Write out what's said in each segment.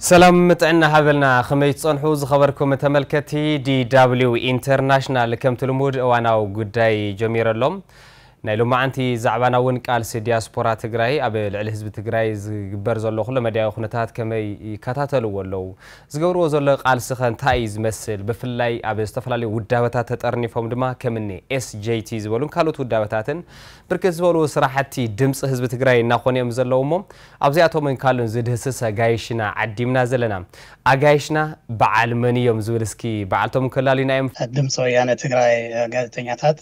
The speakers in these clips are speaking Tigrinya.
ሰላም ጥዕና ሃበልና። ከመይ ትጸንሑ ዝኸበርኩም ተመልከቲ ዲ ደብሊው ኢንተርናሽናል? ከምቲ ልሙድ እዋናዊ ጉዳይ ጀሚረ ኣሎ። ናይ ሎማዓንቲ ዛዕባና እውን ቃልሲ ዲያስፖራ ትግራይ ኣብ ልዕሊ ህዝቢ ትግራይ ዝግበር ዘሎ ኩለ መዳያዊ ኩነታት ከመይ ይከታተልዎ ኣለዉ? ዝገብርዎ ዘሎ ቃልሲ ከ እንታይ እዩ ዝመስል? ብፍላይ ኣብ ዝተፈላለዩ ውዳበታት ተጠርኒፎም ድማ ከምኒ ኤስጄቲ ዝበሉን ካልኦት ውዳበታትን ብርክት ዝበሉ ስራሕቲ ድምፂ ህዝቢ ትግራይ እናኾኑ እዮም ዘለዉ እሞ ኣብዚኣቶምን ካልኦን ዝድህስስ ኣጋይሽና ዓዲምና ዘለና። ኣጋይሽና በዓል መን እዮም ዝብል እስኪ በዓልቶም ከላልዩና እዮም። ድምፂ ወያነ ትግራይ ጋዜጠኛታት፣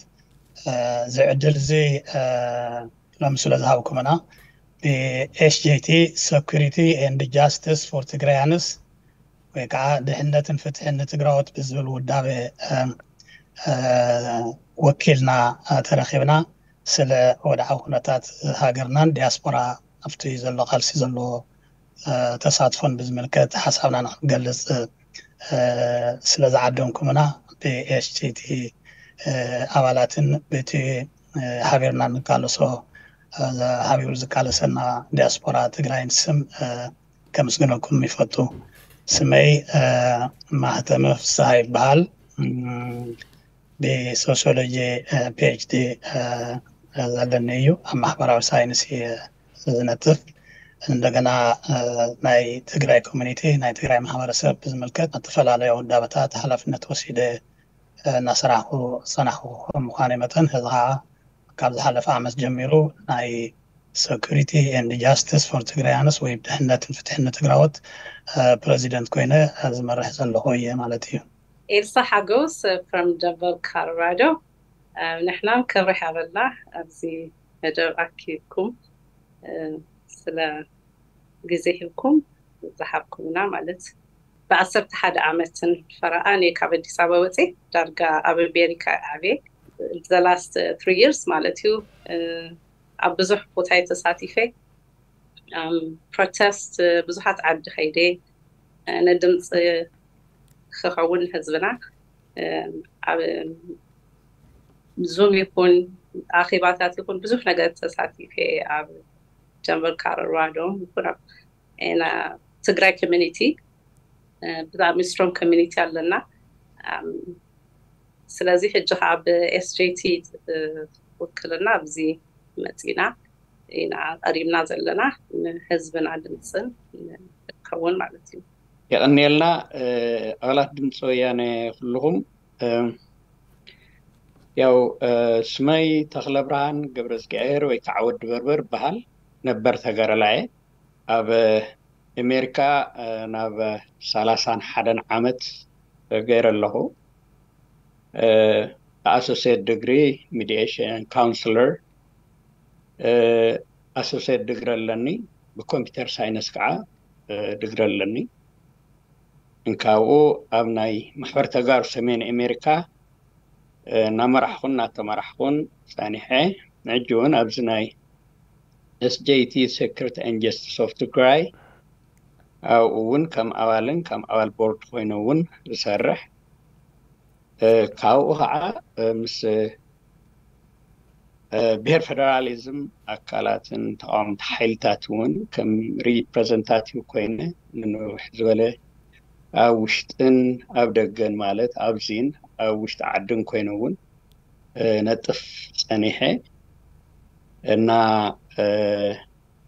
እዚ ዕድል እዚ ሎሚ ስለ ዝሃብኩምና፣ ብ ኤስጄቲ፣ Security and Justice for Tigrayans፣ ወይ ከዓ ድሕነትን ፍትሕን ንትግራዎት ብዝብል ውዳበ ወኪልና ተረኺብና ስለ ወድዓዊ ኩነታት ሃገርናን ዲያስፖራ ኣብቲ ዘሎ ቃልሲ ዘለዎ ተሳትፎን ብዝምልከት ሓሳብና ንክንገልፅ ስለ ዝዓደምኩምና ብኤስጂቲ ኣባላትን በቲ ሃገርና ንቃለሶ ሃቢሩ ዝቃለሰና ዲያስፖራ ትግራይን ስም ከመስግነኩም ይፈቱ። ስመይ ማህተመ ፍስሃ ይበሃል። ብሶሲዮሎጂ ፒኤችዲ ዘለኒ እዩ። ኣብ ማሕበራዊ ሳይንስ እየ ዝነጥፍ። እንደገና ናይ ትግራይ ኮሚኒቲ፣ ናይ ትግራይ ማሕበረሰብ ብዝምልከት ኣብ ዝተፈላለዩ ውዳበታት ሓላፍነት ወሲደ እናሰራሕኩ ዝፀናሕኩ ከም ምዃነይ መጠን፣ ሕዚ ከዓ ካብ ዝሓለፈ ዓመት ጀሚሩ ናይ Security and Justice for Tigrayans ወይ ድሕነትን ፍትሕን ንትግራዎት ፕረዚደንት ኮይነ ዝመርሕ ዘለኹ እየ ማለት እዩ። ኤልሳ ሓጎስ from Denver, Colorado። ንሕናም ክብሪ ሃበልና ኣብዚ መደብ ኣኪብኩም ስለ ግዜ ሂብኩም ዝሃብኩምና ማለት ብዓሰርተ ሓደ ዓመትን ፈረቓን እየ ካብ ኣዲስ ኣበባ ወፂ ዳርጋ ኣብ ኣሜሪካ ዓብየ the last three years ማለት እዩ። ኣብ ብዙሕ ቦታ እየ ተሳቲፈ። ፕሮቴስት ብዙሓት ዓዲ ከይደ ንድምፂ ክኸውን ህዝብና ኣብ ዙም ይኹን ኣኼባታት ይኹን ብዙሕ ነገር ተሳቲፈ ኣብ ጀንበር ካረራዶ ይኹን ኣብ ትግራይ ኮሚኒቲ ብጣዕሚ ስትሮንግ ኮሚኒቲ ኣለና። ስለዚ ሕጂ ከዓ ብኤስጄቲ ውክልና ኣብዚ መፂና ኢና ቀሪብና ዘለና ንህዝብና ድምፅን ንከውን ማለት እዩ። የቐንየልና ኣባላት ድምፂ ወያነ ኩልኹም። ያው ስመይ ተኽለ ብርሃን ገብረዝግሄር ወይ ከዓ ወዲ በርበር ይበሃል። ነበር ተጋዳላይ እየ። ኣብ ኣሜሪካ ናብ ሰላሳን ሓደን ዓመት ገይረ ኣለኹ። ኣሶሴት ዲግሪ ሚዲየሽን ካውንስለር፣ ኣሶሴት ዲግሪ ኣለኒ። ብኮምፒውተር ሳይንስ ከዓ ዲግሪ ኣለኒ። እንካብኡ ኣብ ናይ ማሕበር ተጋሩ ሰሜን ኣሜሪካ እናመራሕኹን እናተመራሕኹን ፀኒሐ። ሕጂ እውን ኣብዚ ናይ ኤስጄቲ፣ Security and Justice of Tigray፣ ኣብኡ እውን ከም ኣባልን ከም ኣባል ቦርድ ኮይነ እውን ዝሰርሕ፣ ካብኡ ከዓ ምስ ብሄር ፌደራሊዝም ኣካላትን ተቃወምቲ ሓይልታት እውን ከም ሪፕሬዘንታቲቭ ኮይነ ንንውሕ ዝበለ ኣብ ውሽጥን ኣብ ደገን ማለት ኣብዚን ኣብ ውሽጢ ዓድን ኮይነ እውን ነጥፍ ፀኒሐ እና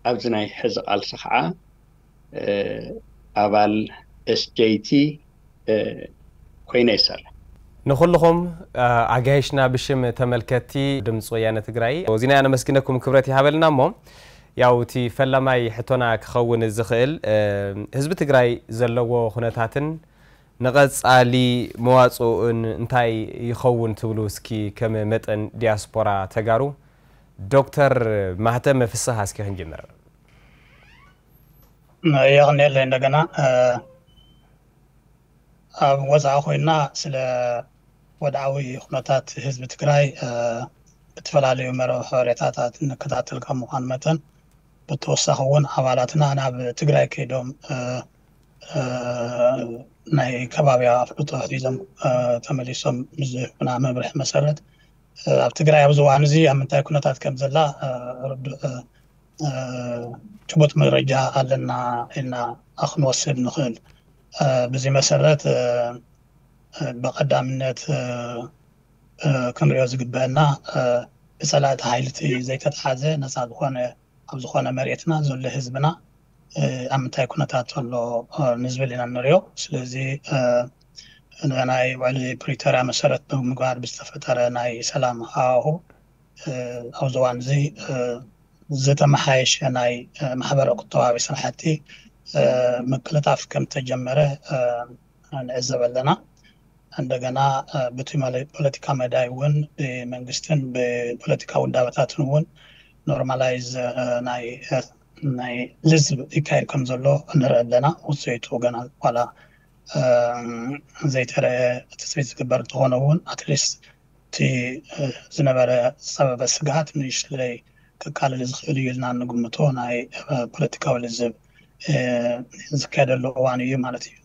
ኣብዚ ናይ ሕዚ ቃልሲ ከዓ ኣባል ኤስጄቲ ኮይነ ይሰርሕ። ንኩልኹም ኣጋይሽና ብሽም ተመልከትቲ ድምፂ ወያነ ትግራይ ዚና ነመስግነኩም፣ ክብረት ይሃበልና። እሞ ያው እቲ ፈላማይ ሕቶና ክኸውን ዝኽእል ህዝቢ ትግራይ ዘለዎ ኩነታትን ንቐፃሊ መዋፅኡን እንታይ ይኸውን ትብሉ? እስኪ ከም መጠን ዲያስፖራ ተጋሩ ዶክተር ማህተመ ፍስሃ እስኪ ክንጅምር። የቐንየለይ እንደገና ኣብ ወፃኢ ኮይና ስለ ወድዓዊ ኩነታት ህዝቢ ትግራይ ብተፈላለዩ መርበብ ሓበሬታታት እንከታተል ካብ ምዃን መጠን ብተወሳኺ እውን ኣባላትና ናብ ትግራይ ከይዶም ናይ ከባቢያ ኣፍልጦ ሒዞም ተመሊሶም ብዝህቡና መብርሒ መሰረት ኣብ ትግራይ ኣብዚ እዋን እዚ ኣብ ምንታይ ኩነታት ከም ዘላ ርዱእ ጭቡጥ መረጃ ኣለና ኢልና ክንወስድ ንኽእል። ብዚ መሰረት ብቐዳምነት ክንሪኦ ዝግበአና ብፀላእቲ ሓይልቲ ዘይተተሓዘ ነፃ ዝኾነ ኣብ ዝኾነ መሬትና ዘሎ ህዝብና ኣብ ምንታይ ኩነታት ኣሎ ንዝብል ኢና ንሪኦ። ስለዚ ናይ ውዕሊ ፕሪቶርያ መሰረት ብምግባር ብዝተፈጠረ ናይ ሰላም ሃዋሁ ኣብዚ እዋን እዚ ዝተመሓየሸ ናይ ማሕበረ ቁጠባዊ ስራሕቲ ምቅልጣፍ ከም ተጀመረ ንዕዘብ ኣለና። እንደገና ብቲ ፖለቲካ መዳይ እውን ብመንግስትን ብፖለቲካ ውዳበታትን እውን ኖርማላይዝ ናይ ልዝብ ይካየድ ከም ዘሎ ንርኢ ኣለና። ውፅኢቱ ገና ዋላ ዘይተረአ ትፅቢት ዝግበር እንተኾነ እውን ኣትሊስት እቲ ዝነበረ ዝፀበበ ስግኣት ንእሽተይ ከቃልል ዝኽእል እዩ ኢልና እንግምቶ ናይ ፖለቲካዊ ልዝብ ዝካየደሉ እዋን እዩ ማለት እዩ።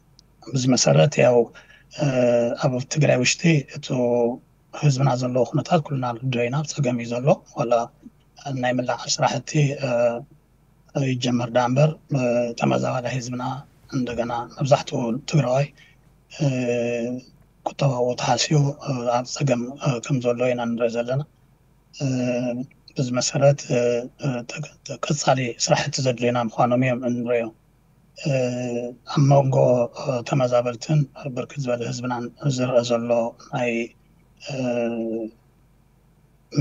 ብዚ መሰረት ያው ኣብ ትግራይ ውሽጢ እቲ ህዝብና ዘለዎ ኩነታት ኩልና ንርድኦ ኢና። ኣብ ፀገም እዩ ዘሎ። ዋላ ናይ ምላዕ ስራሕቲ ይጀመር ዳ እምበር ተመዛባሊ ህዝብና እንደገና መብዛሕትኡ ትግራዋይ ቁጠባዊ ተሃስዩ ኣብ ፀገም ከም ዘሎ ኢና ንርኢ ዘለና። በዚ መሰረት ቀፃሊ ስራሕቲ ዘድልዩና ምዃኖም እዮም እንሪኦ። ኣብ መንጎ ተመዛበልትን ብርክት ዝበለ ህዝብናን ዝረአ ዘሎ ናይ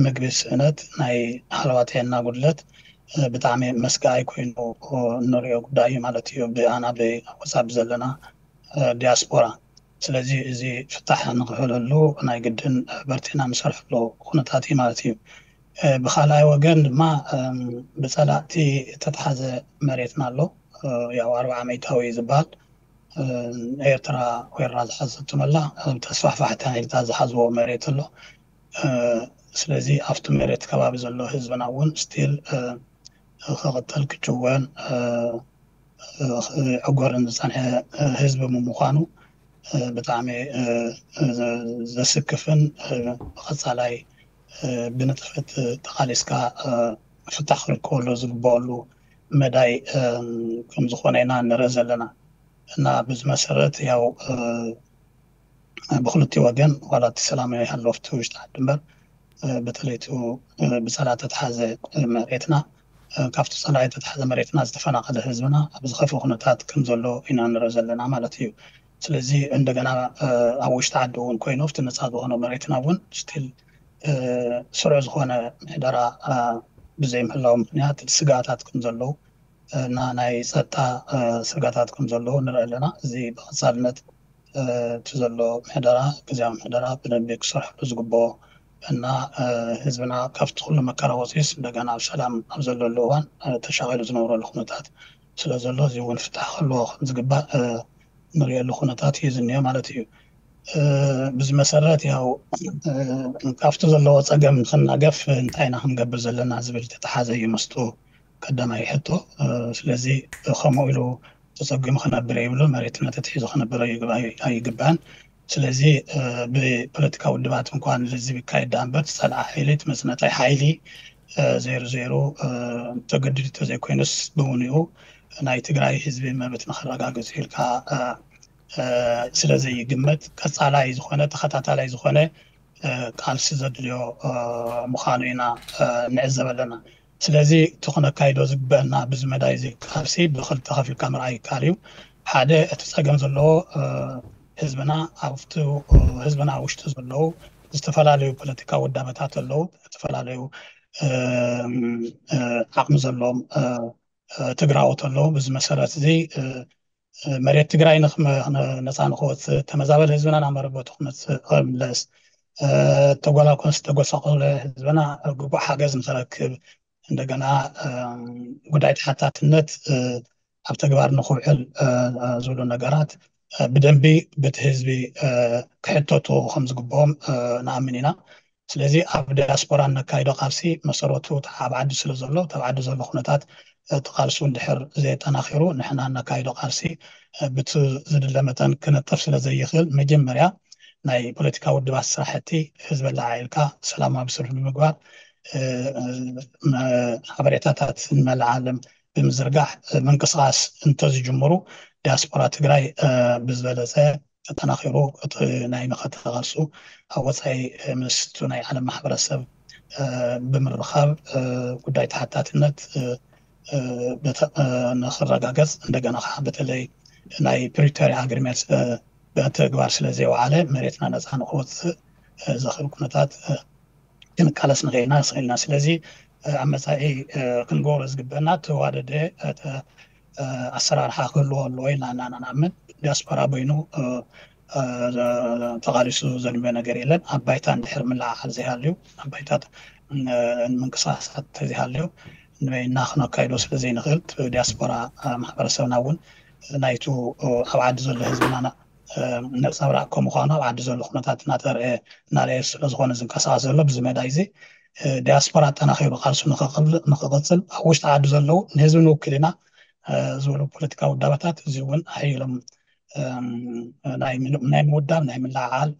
ምግቢ ስእነት፣ ናይ ሃለዋ ጥዕና ጉድለት ብጣዕሚ መስጋኣይ ኮይኑ እንሪኦ ጉዳይ እዩ ማለት እዩ። ብኣና ብወፃ ብዘለና ዲያስፖራ። ስለዚ እዚ ፍታሕ ንክሕለሉ ናይ ግድን በርቲና ንሰርሐሉ ኩነታት እዩ ማለት እዩ። ብካልኣይ ወገን ድማ ብፀላእቲ እተተሓዘ መሬትና ኣሎ። ያው ኣርባዓ ሚእታዊ ዝበሃል ኤርትራ ወሪራ ዝሓዘቶ መላ ተስፋሕፋሕቲ ሓይልታት ዝሓዝዎ መሬት ኣሎ። ስለዚ ኣብቲ መሬት ከባቢ ዘሎ ህዝብና እውን ስቲል ክቕተል ክጭወን ክዕጎርን ዝፀንሐ ህዝቢ ምዃኑ ብጣዕሚ ዘስክፍን ብቐፃላይ ብንጥፈት ተቓሊስካ ፍታሕ ክርከበሉ ዝግበኣሉ መዳይ ከም ዝኾነ ኢና ንርኢ ዘለና። እና ብዚ መሰረት ያው ብክልቲኡ ወገን ዋላ እቲ ሰላም ይሃሎ ኣብቲ ውሽጢ ዓዲ እምበር በተለይ እቲ ብፀላእ ተተሓዘ መሬትና ካብቲ ፀላኢ ተተሓዘ መሬትና ዝተፈናቐለ ህዝብና ኣብ ዝኸፍእ ኩነታት ከም ዘሎ ኢና ንርኢ ዘለና ማለት እዩ። ስለዚ እንደገና ኣብ ውሽጢ ዓዲ እውን ኮይኑ ኣብቲ ነፃ ዝኾነ መሬትና እውን ስቲል ስሩዕ ዝኾነ ምሕደራ ብዘይምህላው ምክንያት ስጋታት ከም ዘለዉ እና ናይ ፀጥታ ስጋታት ከም ዘለዉ ንርኢ ኣለና። እዚ ብቐፃልነት እቲ ዘሎ ምሕደራ ግዝያዊ ምሕደራ ብደንቢ ክሰርሐሉ ዝግብኦ እና ህዝብና ካብቲ ኩሉ መከራ ወፂስ እንደገና ኣብ ሰላም ኣብ ዘለሉ እዋን ተሻቒሉ ዝነብረሉ ኩነታት ስለ ዘሎ እዚ እውን ፍታሕ ክህልዎ ከም ዝግባእ ንሪእሉ ኩነታት እዩ ዝኒኦ ማለት እዩ። ብዚ መሰረት ያው ካብቲ ዘለዎ ፀገም ንክናገፍ እንታይ ኢና ክንገብር ዘለና ዝብል ተተሓዘ እዩ ምስጡ ቀዳማይ ሕቶ። ስለዚ ከምኡ ኢሉ ተፀጊሙ ክነብር የብሉ፣ መሬትና ተትሒዙ ክነብር ኣይግባን። ስለዚ ብፖለቲካ ውድባት እንኳን ልዝብ ይካየድ ዳ እምበር ዝፀልኣ ሓይሊ ትመፅነታይ ሓይሊ ዘይሩ ዘይሩ ተገድድ ተዘይኮይኑስ ብውንኡ ናይ ትግራይ ህዝቢ መብት ንክረጋግፅ ኢልካ ስለዘይግመት ቀፃላይ ዝኾነ ተኸታታላይ ዝኾነ ቃልሲ ዘድልዮ ምዃኑ ኢና ንዕዘብ ኣለና። ስለዚ እቲ ክነካይዶ ዝግበአና ብዚ መዳይ እዚ ቃልሲ ብክልተ ከፊልካ ምርኣይ ይከኣል እዩ። ሓደ እቲ ፀገም ዘለዎ ህዝብና ኣብቲ ህዝብና ውሽጢ ዘለዉ ዝተፈላለዩ ፖለቲካ ውዳበታት ኣለዉ፣ ዝተፈላለዩ ዓቕሚ ዘለዎም ትግራዎት ኣለዉ። ብዚ መሰረት እዚ መሬት ትግራይ ነፃ ንክወፅእ ተመዛበል ህዝብና ናብ መረበቱ ክመፅእ ክምለስ ተጎላኮን ዝተጎሳቆለ ህዝብና ግቡእ ሓገዝ ንክረክብ እንደገና ጉዳይ ተሓታትነት ኣብ ተግባር ንክውዕል ዝብሉ ነገራት ብደንቢ በቲ ህዝቢ ክሕተቱ ከም ዝግብኦም ንኣምን ኢና። ስለዚ ኣብ ዲያስፖራ እነካይዶ ቃልሲ መሰረቱ ኣብ ዓዲ ስለ ዘሎ ኣብ ዓዲ ዘሎ ኩነታት እቲ ቃልሲ እውን ድሕር ዘየጠናኺሩ ንሕና እነካይዶ ቃልሲ ብቲ ዝድለ መጠን ክነጥፍ ስለ ዘይኽእል መጀመርያ ናይ ፖለቲካ ውድባት ስራሕቲ ህዝቢ ኣላዓዒልካ ሰላማዊ ስርሒ ብምግባር ሓበሬታታት ንመላእ ዓለም ብምዝርጋሕ ምንቅስቃስ እንተዝጅምሩ፣ ዲያስፖራ ትግራይ ብዝበለፀ ተጠናኺሩ እቲ ናይ መኸተ ቃልሱ ኣብ ወፃኢ ምስቱ ናይ ዓለም ማሕበረሰብ ብምርኻብ ጉዳይ ተሓታትነት ንክረጋገፅ፣ እንደገና ከዓ በተለይ ናይ ፕሪቶሪያ ኣግሪመንት ብተግባር ስለዘይወዓለ መሬትና ነፃ ንክወፅእ ዘኽእል ኩነታት ክንቃለስ ንኽእልና ስኽእልና። ስለዚ ኣብ መፃኢ ክንገብሮ ዝግበና ተዋደደ ኣሰራርሓ ክህልዎ ኣለዎ ኢልና ኢና ንኣምን። ዲያስፖራ በይኑ ተቓሊሱ ዘድልዮ ነገር የለን። ኣብ ባይታ እንድሕር ምልዕዓል ዘይሃልዩ፣ ኣብ ባይታ ምንቅስቃሳት ተዘይሃልዩ ንበይና ክነካይዶ ስለዘይንኽእል፣ ዲያስፖራ ማሕበረሰብና እውን ናይቱ ኣብ ዓዲ ዘሎ ህዝብና ነፀብራቅ ከምኳኑ ኣብ ዓዲ ዘሎ ኩነታት እናተርአ እናረየ ስለዝኾነ ዝንቀሳቀስ ዘሎ ብዚ መዳይ እዚ ዲያስፖራ ኣጠናኺሩ ቃልሱ ንክቕፅል ኣብ ውሽጢ ዓዲ ዘለዉ ንህዝቢ ንውክል ኢና ዝበሉ ፖለቲካዊ ውዳበታት እዚ እውን ሓይሎም ናይ ምውዳብ ናይ ምልዕዓል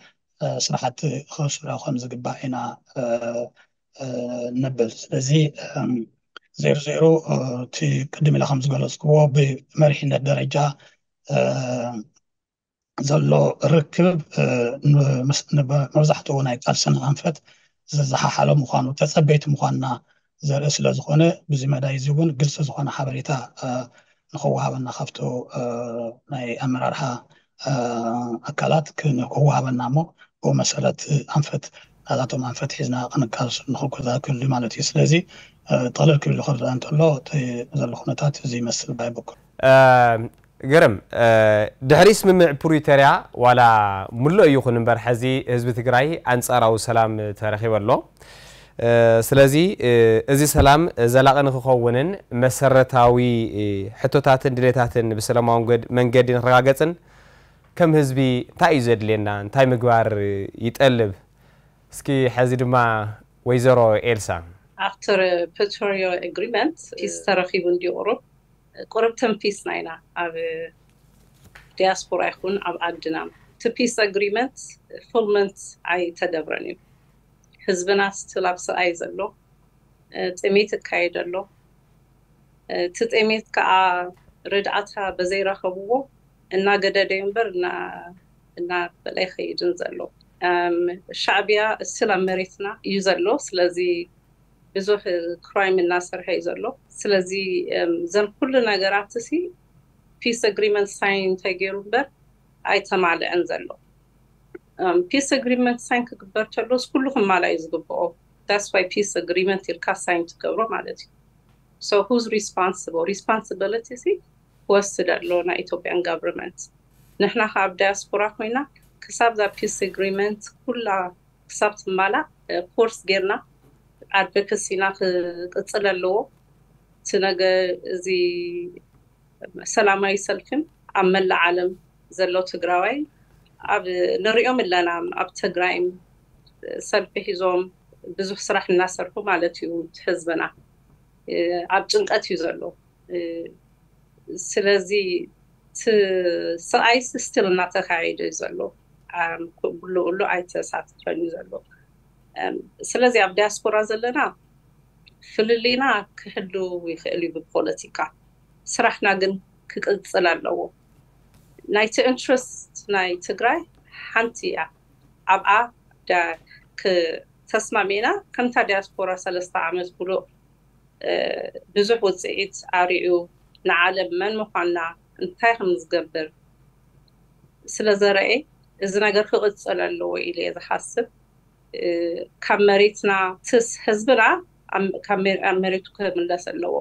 ስራሕቲ ክስርሑ ከም ዝግባእ ኢና ንብል። ስለዚ ዜሮ ዜሮ እቲ ቅድም ኢለ ከም ዝገለፅክዎ ብመሪሕነት ደረጃ ዘሎ ርክብ መብዛሕትኡ ናይ ቃልስና ኣንፈት ዝዘሓሓሎ ምዃኑ ተፀበይቲ ምዃንና ዘርኢ ስለ ዝኾነ ብዚ መዳይ እዚ እውን ግልፂ ዝኾነ ሓበሬታ ንክወሃበና ካብቶ ናይ ኣመራርሓ ኣካላት ክወሃበና እሞ ብኡ መሰረት ኣንፈት ናታቶም ኣንፈት ሒዝና ክንቃልሱ ንክኩዛ ክህሉ ማለት እዩ። ስለዚ ጥቕልል ክብል ክረዳ እንተሎ ዘሎ ኩነታት እዚ ይመስል ባይ በኩል። ግርም ድሕሪ ስምምዕ ፕሪቶርያ ዋላ ሙሉእ ይኹን እምበር ሕዚ ህዝቢ ትግራይ ኣንፃራዊ ሰላም ተረኺቡ ኣሎ። ስለዚ እዚ ሰላም ዘላቒ ንክኸውንን መሰረታዊ ሕቶታትን ድሌታትን ብሰላማዊ መንገዲ ንክረጋገፅን ከም ህዝቢ እንታይ እዩ ዘድልየና? እንታይ ምግባር ይጠልብ? እስኪ ሕዚ ድማ ወይዘሮ ኤልሳ after Pretoria agreement peace ተረኺቡ እንዲዩ ቁሩብ ቁርብ ተንፊስና ኢና ኣብ ዲያስፖራ ይኹን ኣብ ዓድና እቲ peace agreement fulment ኣይተገብረን እዩ። ህዝብና still ኣብ ስቓይ ዘሎ ጥሜት ይካየድ ኣሎ። እቲ ጥሜት ከዓ ርድኣታ በዘይረኸብዎ እናገደደ እዩ እምበር እናበለ ኣይኸይድን ዘሎ። ሻዕብያ still ኣብ መሬትና እዩ ዘሎ። ስለዚ ብዙሕ crime እናሰርሐ እዩ ዘሎ። ስለዚ እዘን ኩሉ ነገራት ሲ peace agreement sign እንተገይሩ እምበር ኣይተማልዐን ዘሎ። Peace agreement sign ክግበር ተሎስ ኩሉ ክማላ እዩ ዝግብኦ። That's why peace agreement ኢልካ sign ትገብሮ ማለት እዩ። So who's responsible? Responsibility ሲ ክወስድ ኣሎ ናይ Ethiopian government። ንሕና ካብ ዲያስፖራ ኮይና ክሳብ ዛ peace agreement ኩላ ክሳብ ትማላእ force ጌርና advocacy ና ክቅፅል ኣለዎ። እቲ ነገ እዚ ሰላማዊ ሰልፍን ኣብ መላእ ዓለም ዘሎ ትግራዋይ ኣብ ንሪኦም ኣለና ኣብ ትግራይም ሰልፊ ሒዞም ብዙሕ ስራሕ እናሰርሑ ማለት እዩ። ህዝብና ኣብ ጭንቀት እዩ ዘሎ። ስለዚ ስቃይስ still እናተካየደ እዩ ዘሎ። ብሉ ብሉ ኣይተሳተፈን እዩ ዘሎ። ስለዚ ኣብ ዲያስፖራ ዘለና ፍልልይና ክህሉ ይኽእል እዩ ብፖለቲካ፣ ስራሕና ግን ክቅፅል ኣለዎ። ናይቲ interest ናይ ትግራይ ሓንቲ እያ። ኣብኣ ተስማሚዕና ከምታ ዲያስፖራ ሰለስተ ዓመት ብሉእ ብዙሕ ውፅኢት ኣሪኡ ንዓለም መን ምኳንና እንታይ ከም ዝገብር ስለዘረኤ እዚ ነገር ክቕፅል ኣለዎ ኢለ እየ ዝሓስብ። ካብ መሬትና ትስ ህዝብና ኣብ መሬቱ ክምለስ ኣለዎ።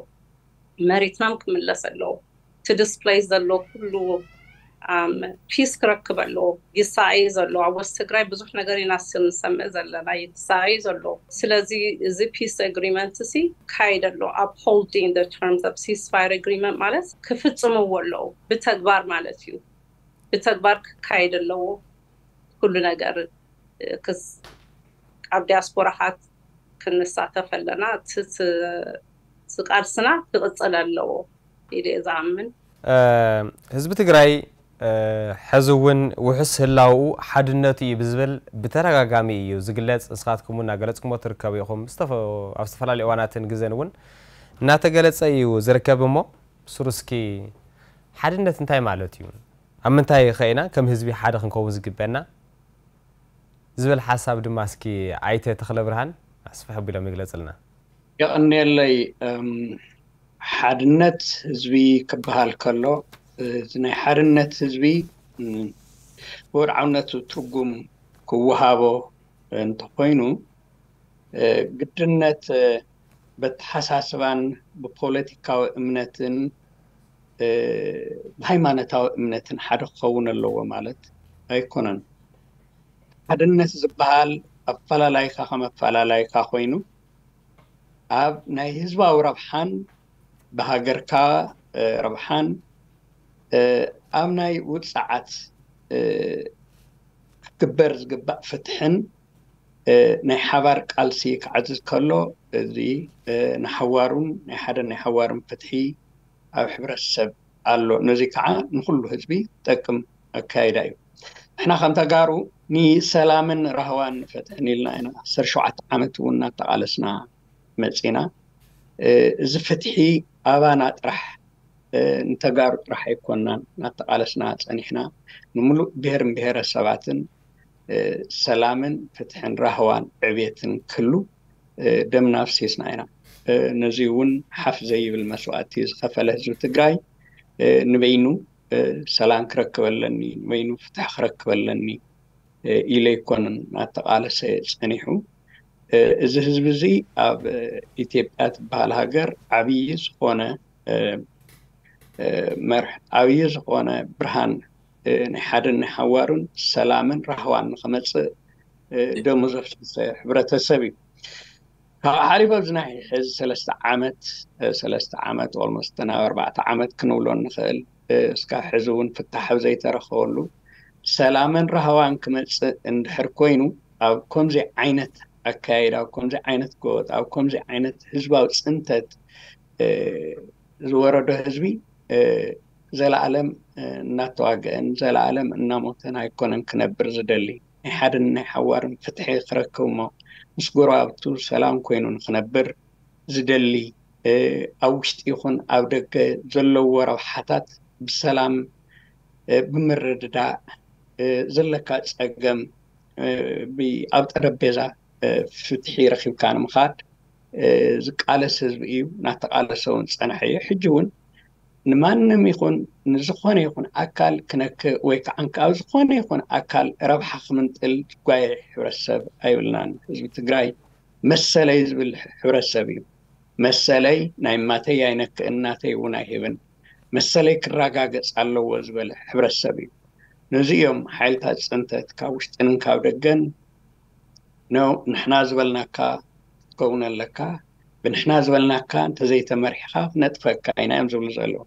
መሬትናም ክምለስ ኣለዎ። እቲ displace ዘሎ ኩሉ peace ክረክብ ኣለዎ። ይሳቐይ ዘሎ ኣብ west ትግራይ ብዙሕ ነገር ኢና ንሰምዕ ዘለና ይሳቐይ ዘሎ። ስለዚ እዚ peace agreement ሲ ካይድ ኣሎ upholding the terms of ceasefire agreement ማለት ክፍፅምዎ ኣለዉ ብተግባር ማለት እዩ። ብተግባር ክካየድ ኣለዎ ኩሉ ነገር። ክስ ኣብ ዲያስፖራሓት ክንሳተፍ ኣለና። እቲ ቃልስና ክቕፅል ኣለዎ ኢለ ዝኣምን። ህዝቢ ትግራይ ሕዚ እውን ውሑስ ህላውኡ ሓድነቱ እዩ ብዝብል ብተደጋጋሚ እዩ ዝግለጽ። ንስኻትኩም እውን እናገለጽኩሞ ትርከቡ ኢኹም። ዝተፈ-፣ ኣብ ዝተፈላለዩ እዋናትን ግዘን እውን እናተገለጸ እዩ ዝርከብ። እሞ ብስሩ እስኪ ሓድነት እንታይ ማለት እዩ? ኣብ ምንታይ ኸ ኢና ከም ህዝቢ ሓደ ክንከውን ዝግበና? ዝብል ሓሳብ ድማ እስኪ ኣይተ ተኽለ ብርሃን ኣስፍሕ ኣቢሎም ይግለጽልና። የቐንየለይ። እም፣ ሓድነት ህዝቢ ክበሃል ከሎ፣ እቲ ናይ ሓድነት ህዝቢ፣ እም፣ ብወድዓውነቱ ትርጉም ክወሃቦ እንተኾይኑ፣ እ፣ ግድነት፣ እ፣ በተሓሳስባን ብፖለቲካዊ እምነትን፣ እ፣ ብሃይማኖታዊ እምነትን ሓደ ክኸውን ኣለዎ ማለት ኣይኮነን። ሓድነት ዝበሃል ኣፈላላይካ ከም ኣፈላላይካ ኮይኑ፣ ኣብ ናይ ህዝባዊ ረብሓን ብሃገርካ፣ እ፣ ረብሓን፣ እ፣ ኣብ ናይ ውጽዓት፣ እ፣ ክግበር ዝግባእ ፍትሕን፣ እ፣ ናይ ሓባር ቃልሲ ክዓዝዝ ከሎ፣ እዚ፣ እ፣ ንሓዋሩን ናይ ሓደን ናይ ሓዋርን ፍትሒ ኣብ ሕብረተሰብ ኣሎ። ነዚ ከዓ ንኹሉ ህዝቢ ጠቅም ኣካይዳ እዩ። ንሕና ከም ተጋሩ ንሰላምን ራህዋን ፍትሕን ኢልና ኢና ዓሰርተ ሸውዓተ ዓመት እውን እናተቓለስና መጺና። እ፣ እዚ ፍትሒ ኣባና ጥራሕ፣ እ፣ ንተጋሩ ጥራሕ ኣይኮናን እናተቓለስና ጸኒሕና። ንምሉእ ብሔርን ብሔረሰባትን፣ እ፣ ሰላምን ፍትሕን ራህዋን ዕቤትን ክህሉ፣ እ፣ ደምና ኣፍሲስና ኢና። እ፣ ነዚ እውን ሓፍ ዘይብል መስዋእቲ ዝኸፈለ ህዝቢ ትግራይ፣ እ፣ ንበይኑ፣ እ፣ ሰላም ክረክብ ኣለኒ፣ ንበይኑ ፍትሒ ክረክብ ኣለኒ፣ እ፣ ኢለ ኣይኮነን እናተቓለሰ ጸኒሑ። እ፣ እዚ ህዝቢ እዚ ኣብ፣ እ፣ ኢትዮጵያ ትበሃል ሃገር ዓብዪ ዝኾነ፣ እ፣ እ፣ መርሕ፣ ዓብዪ ዝኾነ ብርሃን፣ እ፣ ናይ ሓደን ናይ ሓዋሩን ሰላምን ራህዋን ንኸመጽእ፣ እ፣ ደሙ ዘፍሰሰ ሕብረተሰብ እዩ። ካብኡ ሓሊፉ ኣብዚ ናይ ሕዚ ሰለስተ ዓመት፣ እ፣ ሰለስተ ዓመት፣ ኦልሞስት ናብ ኣርባዕተ ዓመት ክንብሎ ንኽእል፣ እ፣ እስካብ ሕዚ እውን ፍታሕ ኣብ ዘይተረኸበሉ፣ ሰላምን ራህዋን ክመጽእ እንድሕር ኮይኑ፣ ኣብ ከምዚ ዓይነት ኣካይዳ፣ ኣብ ከምዚ ዓይነት ጎወጥ፣ ኣብ ከምዚ ዓይነት ህዝባዊ ጽንተት፣ እ፣ ዝወረዶ ህዝቢ፣ እ፣ ዘለኣለም፣ እ፣ እናተዋግአን ዘለኣለም እናሞተን ኣይኮነን ክነብር ዝደሊ። ናይ ሓደን ናይ ሓዋርን ፍትሒ ክረክብ እሞ ምስ ጎረባብቱ ሰላም ኮይኑ ንክነብር ዝደሊ፣ እ፣ ኣብ ውሽጢ ይኹን ኣብ ደገ ዘለዎ ረብሓታት ብሰላም፣ እ፣ ብምርድዳእ፣ እ፣ ዘለካ ጸገም፣ እ፣ ብ-፣ ኣብ ጠረጴዛ፣ እ፣ ፍትሒ ረኺብካ ንምኻድ፣ እ፣ ዝቃለስ ህዝቢ እዩ። እናተቃለሰ እውን ዝጸንሐ እዩ። ሕጂ እውን ንማንም ይኹን ንዝኾነ ይኹን ኣካል ክነክእ ወይ ከዓ ኣብ ዝኾነ ይኹን ኣካል ረብሓ ክምንጥል ዝጓየ ሕብረተሰብ ኣይብልናን። ህዝቢ ትግራይ መሰለይ ዝብል ሕብረተሰብ እዩ። መሰለይ ናይ ማተይ ኣይነክእን፣ ናተይ እውን ኣይህብን፣ መሰለይ ክረጋገጽ ኣለዎ ዝበለ ሕብረተሰብ እዩ። ነዚ እዮም ሓይልታት ጽንተት ካብ ውሽጥን ካብ ደገን፣ "ኖ፣ ንሕና ዝበልናካ ክትከውን ኣለካ፣ ብንሕና ዝበልናካ እንተዘይተመሪሕኻ ክነጥፈካ ኢና" እዮም ዝብሉ ዘለዉ።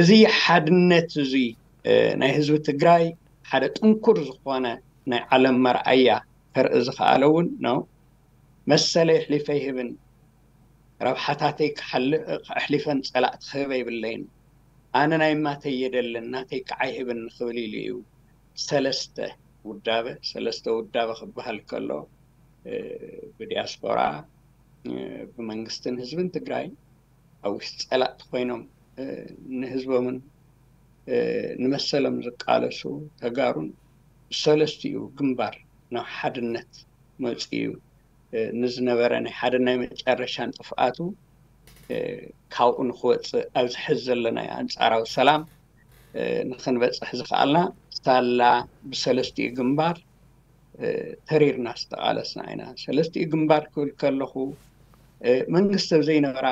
እዚ ሓድነት እዚ፣ እ፣ ናይ ህዝቢ ትግራይ ሓደ ጥንኩር ዝኾነ ናይ ዓለም መርኣያ ከርኢ ዝኸኣለ እውን ነው። መሰለይ ኣሕሊፈ ይህብን፣ ረብሓታተይ ክሓል-፣ ኣሕሊፈን ጸላእቲ ክህበ ይብለይን። ኣነ ናይ ማተይ የደልን፣ ናተይ ከዓ ይህብን ክብል ኢሉ እዩ። ሰለስተ ውዳበ፣ ሰለስተ ውዳበ ክበሃል ከሎ፣ እ፣ ብዲያስፖራ፣ እ፣ ብመንግስትን ህዝብን ትግራይ ኣብ ውሽጢ ጸላእቲ ኮይኖም፣ እ፣ ንህዝቦምን፣ እ፣ ንመሰሎም ዝቃለሱ ተጋሩን ብሰለስቲኡ ግንባር ናብ ሓድነት መጺኡ እዩ። እ፣ ንዝነበረ ናይ ሓደ ናይ መጨረሻን ጥፍኣቱ፣ እ፣ ካብኡ ንክወጽእ ኣብዚ ሕዚ ዘለናዮ ኣንጻራዊ ሰላም፣ እ፣ ንክንበጽሕ ዝኸኣልና ሳላ ብሰለስቲኡ ግንባር፣ እ፣ ተሪርና ዝተቓለስና ኢና። ሰለስቲኡ ግንባር ክብል ከለኹ፣ እ፣ መንግስቲ ኣብ ዘይነበራ፣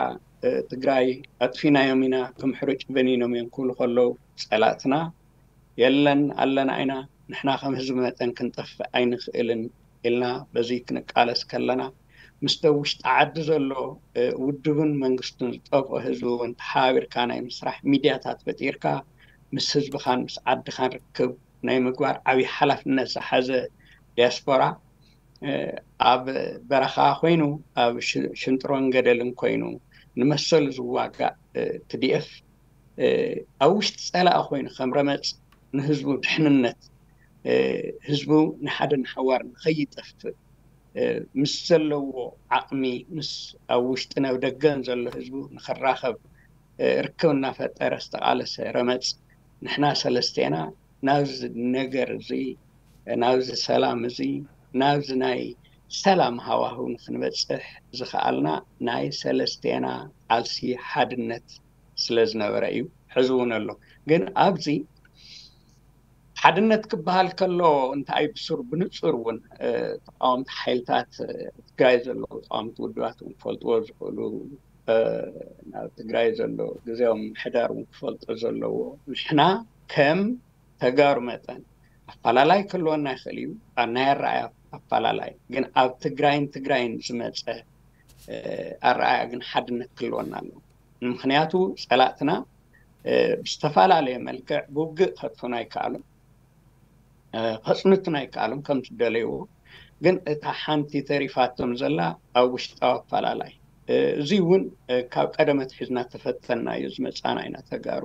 እ፣ ትግራይ ኣጥፊናዮም ኢና፣ ከም ሕሩጭ በኒኖም እዮም ክብሉ ከለዉ ጸላእትና፣ የለን ኣለና ኢና፣ ንሕና ከም ህዝቢ መጠን ክንጠፍእ ኣይንኽእልን ኢልና በዚ ክንቃለስ ከለና፣ ምስቲ ኣብ ውሽጢ ዓዲ ዘሎ፣ እ፣ ውድብን መንግስቱን ዝጠፍኦ ህዝቢ እውን ተሓባቢርካ ናይ ምስራሕ ሚድያታት ፈጢርካ ምስ ህዝብኻን ምስ ዓድኻን ርክብ ናይ ምግባር ዓብዪ ሓላፍነት ዝሓዘ ዲያስፖራ፣ እ፣ ኣብ በረኻ ኮይኑ፣ ኣብ ሽ-፣ ሽንጥሮን ገደልን ኮይኑ ንመሰሉ ዝዋጋእ፣ እ፣ ቲ ዲ ኤፍ፣ እ፣ ኣብ ውሽጢ ጸላኢ ኮይኑ ከም ረመጽ፣ ንህዝቡ ድሕንነት፣ ህዝቡ ንሓደ ንሓዋር ንኸይጠፍእ ምስ ዘለዎ ዓቕሚ፣ ምስ ኣብ ውሽጥን ኣብ ደገን ዘሎ ህዝቡ ንኽራኸብ ርክብ እናፈጠረ ዝተቓለሰ ረመፅ፣ ንሕና ሰለስቴና ናብዚ ነገር እዚ፣ ናብዚ ሰላም እዚ፣ ናብዚ ናይ ሰላም ሃዋህው ንክንበፅሕ ዝኸኣልና ናይ ሰለስቴና ቃልሲ ሓድነት ስለ ዝነበረ እዩ። ሕዚ እውን ኣሎ። ግን ኣብዚ ሓድነት ክበሃል ከሎ እንታይ ብሱር ብንፁር እውን ተቃወምቲ ሓይልታት ትግራይ ዘለዉ ተቃወምቲ ውድባት እውን ክፈልጥዎ ዝኽእሉ፣ ናብ ትግራይ ዘሎ ግዜያዊ ምምሕዳር እውን ክፈልጦ ዘለዎ፣ ንሕና ከም ተጋሩ መጠን ኣፈላላይ ክህልወና ይኽእል እዩ፣ ኣብ ናይ ኣረኣያ ኣፈላላይ ግን ኣብ ትግራይን ትግራይን ዝመፀ ኣረኣያ ግን ሓድነት ክህልወና ኣለዎ። ምክንያቱ ፀላእትና ብዝተፈላለየ መልክዕ ብውግእ ከጥፉና ኣይከኣሉን፣ ከፅንቱና ኣይከኣሉን ከም ዝደለይዎ። ግን እታ ሓንቲ ተሪፋቶም ዘላ ኣብ ውሽጣዊ ኣፈላላይ፣ እዚ እውን ካብ ቀደመ ኣትሒዝና ተፈተና እዩ ዝመፃና ኢና ተጋሩ።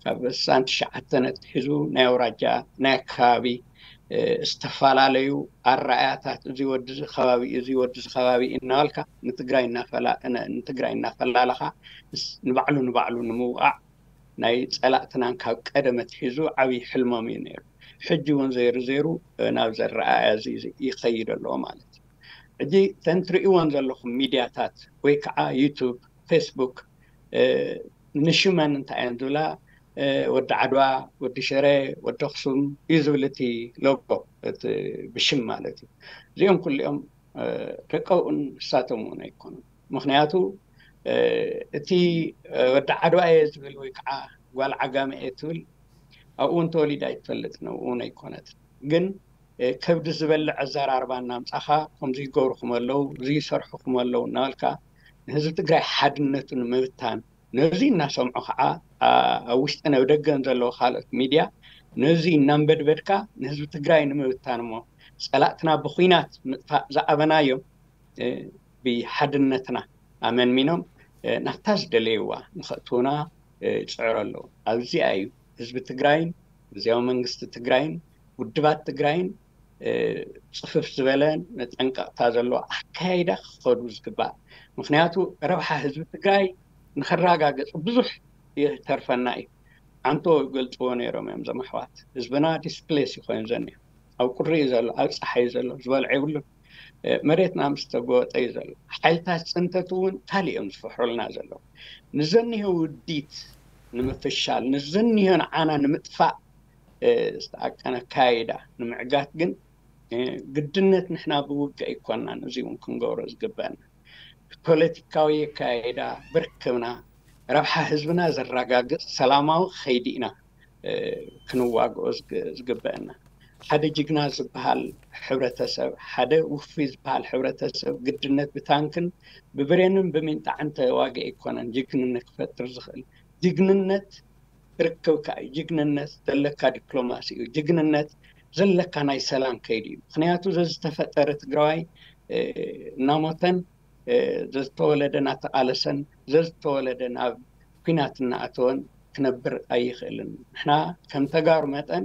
ካብ ስሳን ትሽዓተን ኣትሒዙ ናይ ኣውራጃ ናይ ኣከባቢ ዝተፈላለዩ ኣረኣያታት፣ እዚ ወዲ እዚ ከባቢ፣ እዚ ወዲ እዚ ከባቢ እናበልካ ንትግራይ እናፈላ-፣ ን-፣ ንትግራይ እናፈላለኻ ንስ-፣ ንባዕሉ ንባዕሉ ንምውቃዕ ናይ ፀላእትናን ካብ ቀደም ኣትሒዙ ዓብዪ ሕልሞም እዩ ነይሩ። ሕጂ እውን ዘይሩ ዘይሩ ናብ ዘረኣያ እዚ ይኸይድ ኣለዎ ማለት እዩ። ሕጂ ተን ትርእይዎን ዘለኹም ሚድያታት ወይ ከዓ ዩቱብ፣ ፌስቡክ፣ ንሽመን እንታይ እየን ዝብላ፣ ወዲ ዓድዋ፣ ወዲ ሽረ፣ ወዲ ኣኽሱም እዩ ዝብል እቲ ሎጎ፣ እቲ ብሽም ማለት እዩ። እዚኦም ኩሊኦም ደቀውኡን ንሳቶም እውን ኣይኮኑን። ምክንያቱ እቲ ወዲ ዓድዋ እየ ዝብል ወይ ከዓ ጓል ዓጋመ እየ ትብል ኣብኡ እውን ተወሊዳ ኣይትፈልጥን፣ ኣብኡ እውን ኣይኮነትን። ግን ከብዲ ዝበልዕ ኣዘራርባ እናምፃኻ ከምዚ ይገብርኹም ኣለዉ፣ እዚ ይሰርሑኹም ኣለዉ እናበልካ ንህዝቢ ትግራይ ሓድነቱ ንምብታን፣ ነዚ እናሰምዑ ከዓ ኣብ ውሽጥን ኣብ ደገን ዘለዉ ካልኦት ሚድያ ነዚ እናንበድበድካ ንህዝቢ ትግራይ ንምብታን እሞ ፀላእትና ብኩናት ምጥፋእ ዝኣበናዮም ብሓድነትና ኣመንሚኖም ናብታ ዝደለይዋ ንኸእትውና ይፅዕሩ ኣለዉ። ኣብዚኣ እዩ ህዝቢ ትግራይን ግዝያዊ መንግስቲ ትግራይን ውድባት ትግራይን ፅፍፍ ዝበለ መጠንቀቕታ ዘለዎ ኣካይዳ ክኸዱ ዝግባእ። ምክንያቱ ረብሓ ህዝቢ ትግራይ ንኸረጋገፅ ብዙሕ ይተርፈና እዩ። ዓንቶ ይገልፅዎ ነይሮም እዮም እዞም ኣሕዋት። ህዝብና ዲስፕሌስ ይኮይኑ ዘኒዮ፣ ኣብ ቁሪ እዩ ዘሎ፣ ኣብ ፀሓይ እዩ ዘሎ፣ ዝበልዖ የብሉን። መሬትና ምስ ተጎወጠ እዩ ዘሎ። ሓይልታት ፅንተት እውን ካልእ እዮም ዝፍሕሩልና ዘለዉ። ንዘኒሆ ውዲት ንምፍሻል፣ ንዘኒሆ ንዓና ንምጥፋእ ዝተኣቀነ ኣካይዳ ንምዕጋት ግን ግድነት ንሕና ብውግእ ኣይኮናን። እዚ እውን ክንገብሮ ዝግበአና ፖለቲካዊ ኣካይዳ ብርክብና ረብሓ ህዝብና ዘረጋግፅ ሰላማዊ ከይዲ ኢና ክንዋግኦ ዝግበአና። ሓደ ጅግና ዝበሃል ሕብረተሰብ፣ ሓደ ውፉይ ዝበሃል ሕብረተሰብ ግድነት ብታንክን ብብሬንን ብሚንጣዕን ተዋጊ ኣይኮነን ጅግንነት ክፈጥር ዝኽእል። ጅግንነት ርክብካ እዩ። ጅግንነት ዘለካ ዲፕሎማሲ እዩ። ጅግንነት ዘለካ ናይ ሰላም ከይዲ እዩ። ምክንያቱ ዘዝተፈጠረ ትግራዋይ እናሞተን ዘዝተወለደ እናተቃለሰን ዘዝተወለደ ናብ ኲናት እናኣተወን ክነብር ኣይኽእልን። ንሕና ከም ተጋሩ መጠን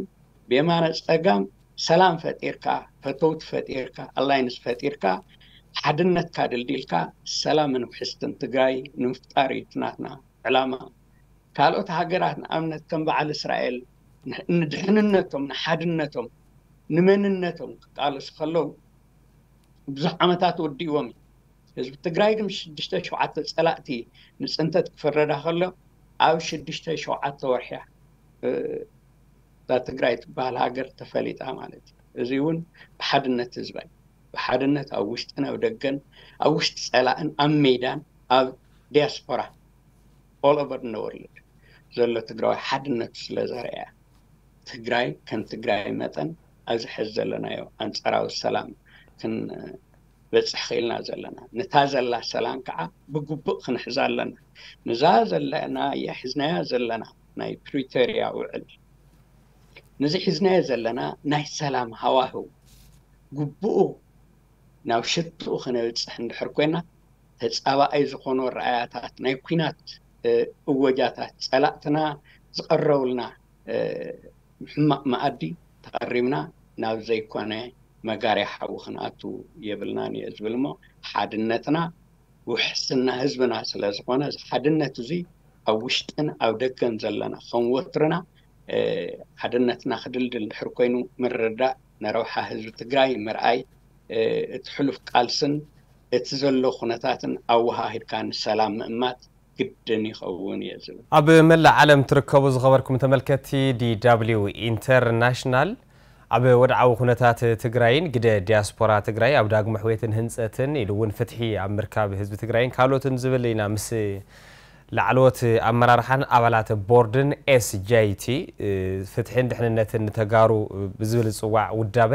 ብየማነ ፀጋም ሰላም ፈጢርካ፣ ፈተውቲ ፈጢርካ፣ ኣላይንስ ፈጢርካ፣ ሓድነትካ ድልዲልካ ሰላምን ውሕስትን ትግራይ ንምፍጣር እዩ እቲ ናትና ዕላማ። ካልኦት ሃገራት ንኣብነት ከም በዓል እስራኤል ንድሕንነቶም፣ ንሓድነቶም፣ ንመንነቶም ክቃለሱ ከለዉ ብዙሕ ዓመታት ወዲእዎም እዩ። ህዝቢ ትግራይ ግን ሽዱሽተ ሸውዓተ ፀላእቲ ንፅንተት ክፍረዳ ከሎ ኣብ ሽዱሽተ ሸውዓተ ወርሒ እያ እዛ ትግራይ ትበሃል ሃገር ተፈሊጣ ማለት እዩ። እዚ እውን ብሓድነት ህዝባ እዩ። ብሓድነት ኣብ ውሽጥን ኣብ ደገን፣ ኣብ ውሽጢ ፀላእን ኣብ ሜዳን ኣብ ዲያስፖራ all over the world ዘሎ ትግራዋይ ሓድነቱ ስለ ዘርኣያ፣ ትግራይ ከም ትግራይ መጠን ኣብዚ ሕዚ ዘለናዮ ኣንፃራዊ ሰላም ክንበፅሕ ክኢልና ዘለና። ነታ ዘላ ሰላም ከዓ ብግቡእ ክንሕዛ ኣለና። ነዛ ዘለናያ ሒዝናያ ዘለና ናይ ፕሪቶርያ ውዕል፣ ነዚ ሒዝናዮ ዘለና ናይ ሰላም ሃዋህው ግቡኡ ናብ ሽትኡ ክነብፅሕ እንድሕር ኮይና፣ ተፃባኣይ ዝኾኑ ረኣያታት ናይ ኲናት እወጃታት ፀላእትና ዝቐረቡልና ሕማቕ መኣዲ ተቐሪብና ናብ ዘይኮነ መጋርያ ሓዊ ክንኣቱ የብልናን እየ ዝብል። እሞ ሓድነትና ውሕስና ህዝብና ስለ ዝኾነ፣ እዚ ሓድነት እዚ ኣብ ውሽጥን ኣብ ደገን ዘለና ከም ወትርና ሓድነትና ክድልድል ድሕር ኮይኑ ምርዳእ፣ ንረብሓ ህዝቢ ትግራይ ምርኣይ፣ እቲ ሕሉፍ ቃልስን እቲ ዘሎ ኩነታትን ኣወሃሂድካ ንሰላም ምእማት ግድን ይኸውን እየ ዝብል። ኣብ መላእ ዓለም ትርከቡ ዝኸበርኩም ተመልከትቲ DW ኢንተርናሽናል፣ ኣብ ወድዓዊ ኩነታት ትግራይን ግደ ዲያስፖራ ትግራይ ኣብ ዳግመ ሕውየትን ህንፀትን ኢሉ እውን ፍትሒ ኣብ ምርካብ ህዝቢ ትግራይን ካልኦትን ዝብል ኢና ምስ ላዕለዎት ኣመራርሓን ኣባላት ቦርድን SJT ፍትሕን ድሕንነትን ንተጋሩ ብዝብል ዝፅዋዕ ውዳበ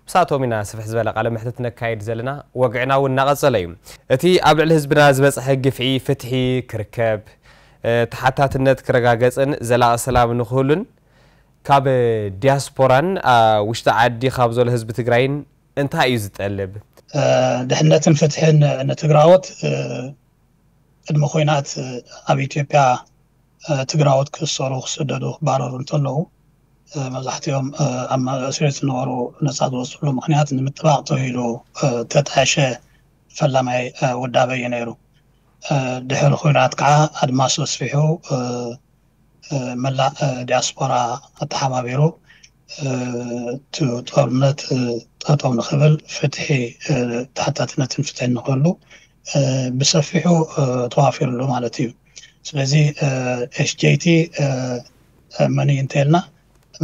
ምሳቶም ኢና ስፍሕ ዝበለ ቃለ መሕትት ነካይድ ዘለና። ወግዕና እውን እናቐፀለ እዩ። እቲ ኣብ ልዕሊ ህዝብና ዝበፅሐ ግፍዒ ፍትሒ ክርከብ፣ ተሓታትነት ክረጋገፅን ዘላቒ ሰላም ንክህሉን ካብ ዲያስፖራን ውሽጢ ዓዲ ካብ ዘሎ ህዝቢ ትግራይን እንታይ እዩ ዝጠልብ? ድሕነትን ፍትሕን ንትግራዎት ቅድሚ ኩናት ኣብ ኢትዮጵያ ትግራዎት ክእሰሩ፣ ክስደዱ፣ ክባረሩ እንተለዉ መብዛሕትኦም ኣብ እስር ዝነበሩ ነፃ ዝወፅሉ ምክንያት ንምጥባቕ ተባሂሉ ተጣየሸ ፈላማይ ውዳበ እዩ ነይሩ። ድሕሪ ኩናት ከዓ ኣድማሱ ኣስፊሑ መላእ ዲያስፖራ ኣተሓባቢሩ እቲ ጦርነት ጠጠው ንክብል ፍትሒ ተሓታትነትን ፍትሕን ንክህሉ ብሰፊሑ ተዋፊርሉ ማለት እዩ። ስለዚ SJT መን እዩ እንተልና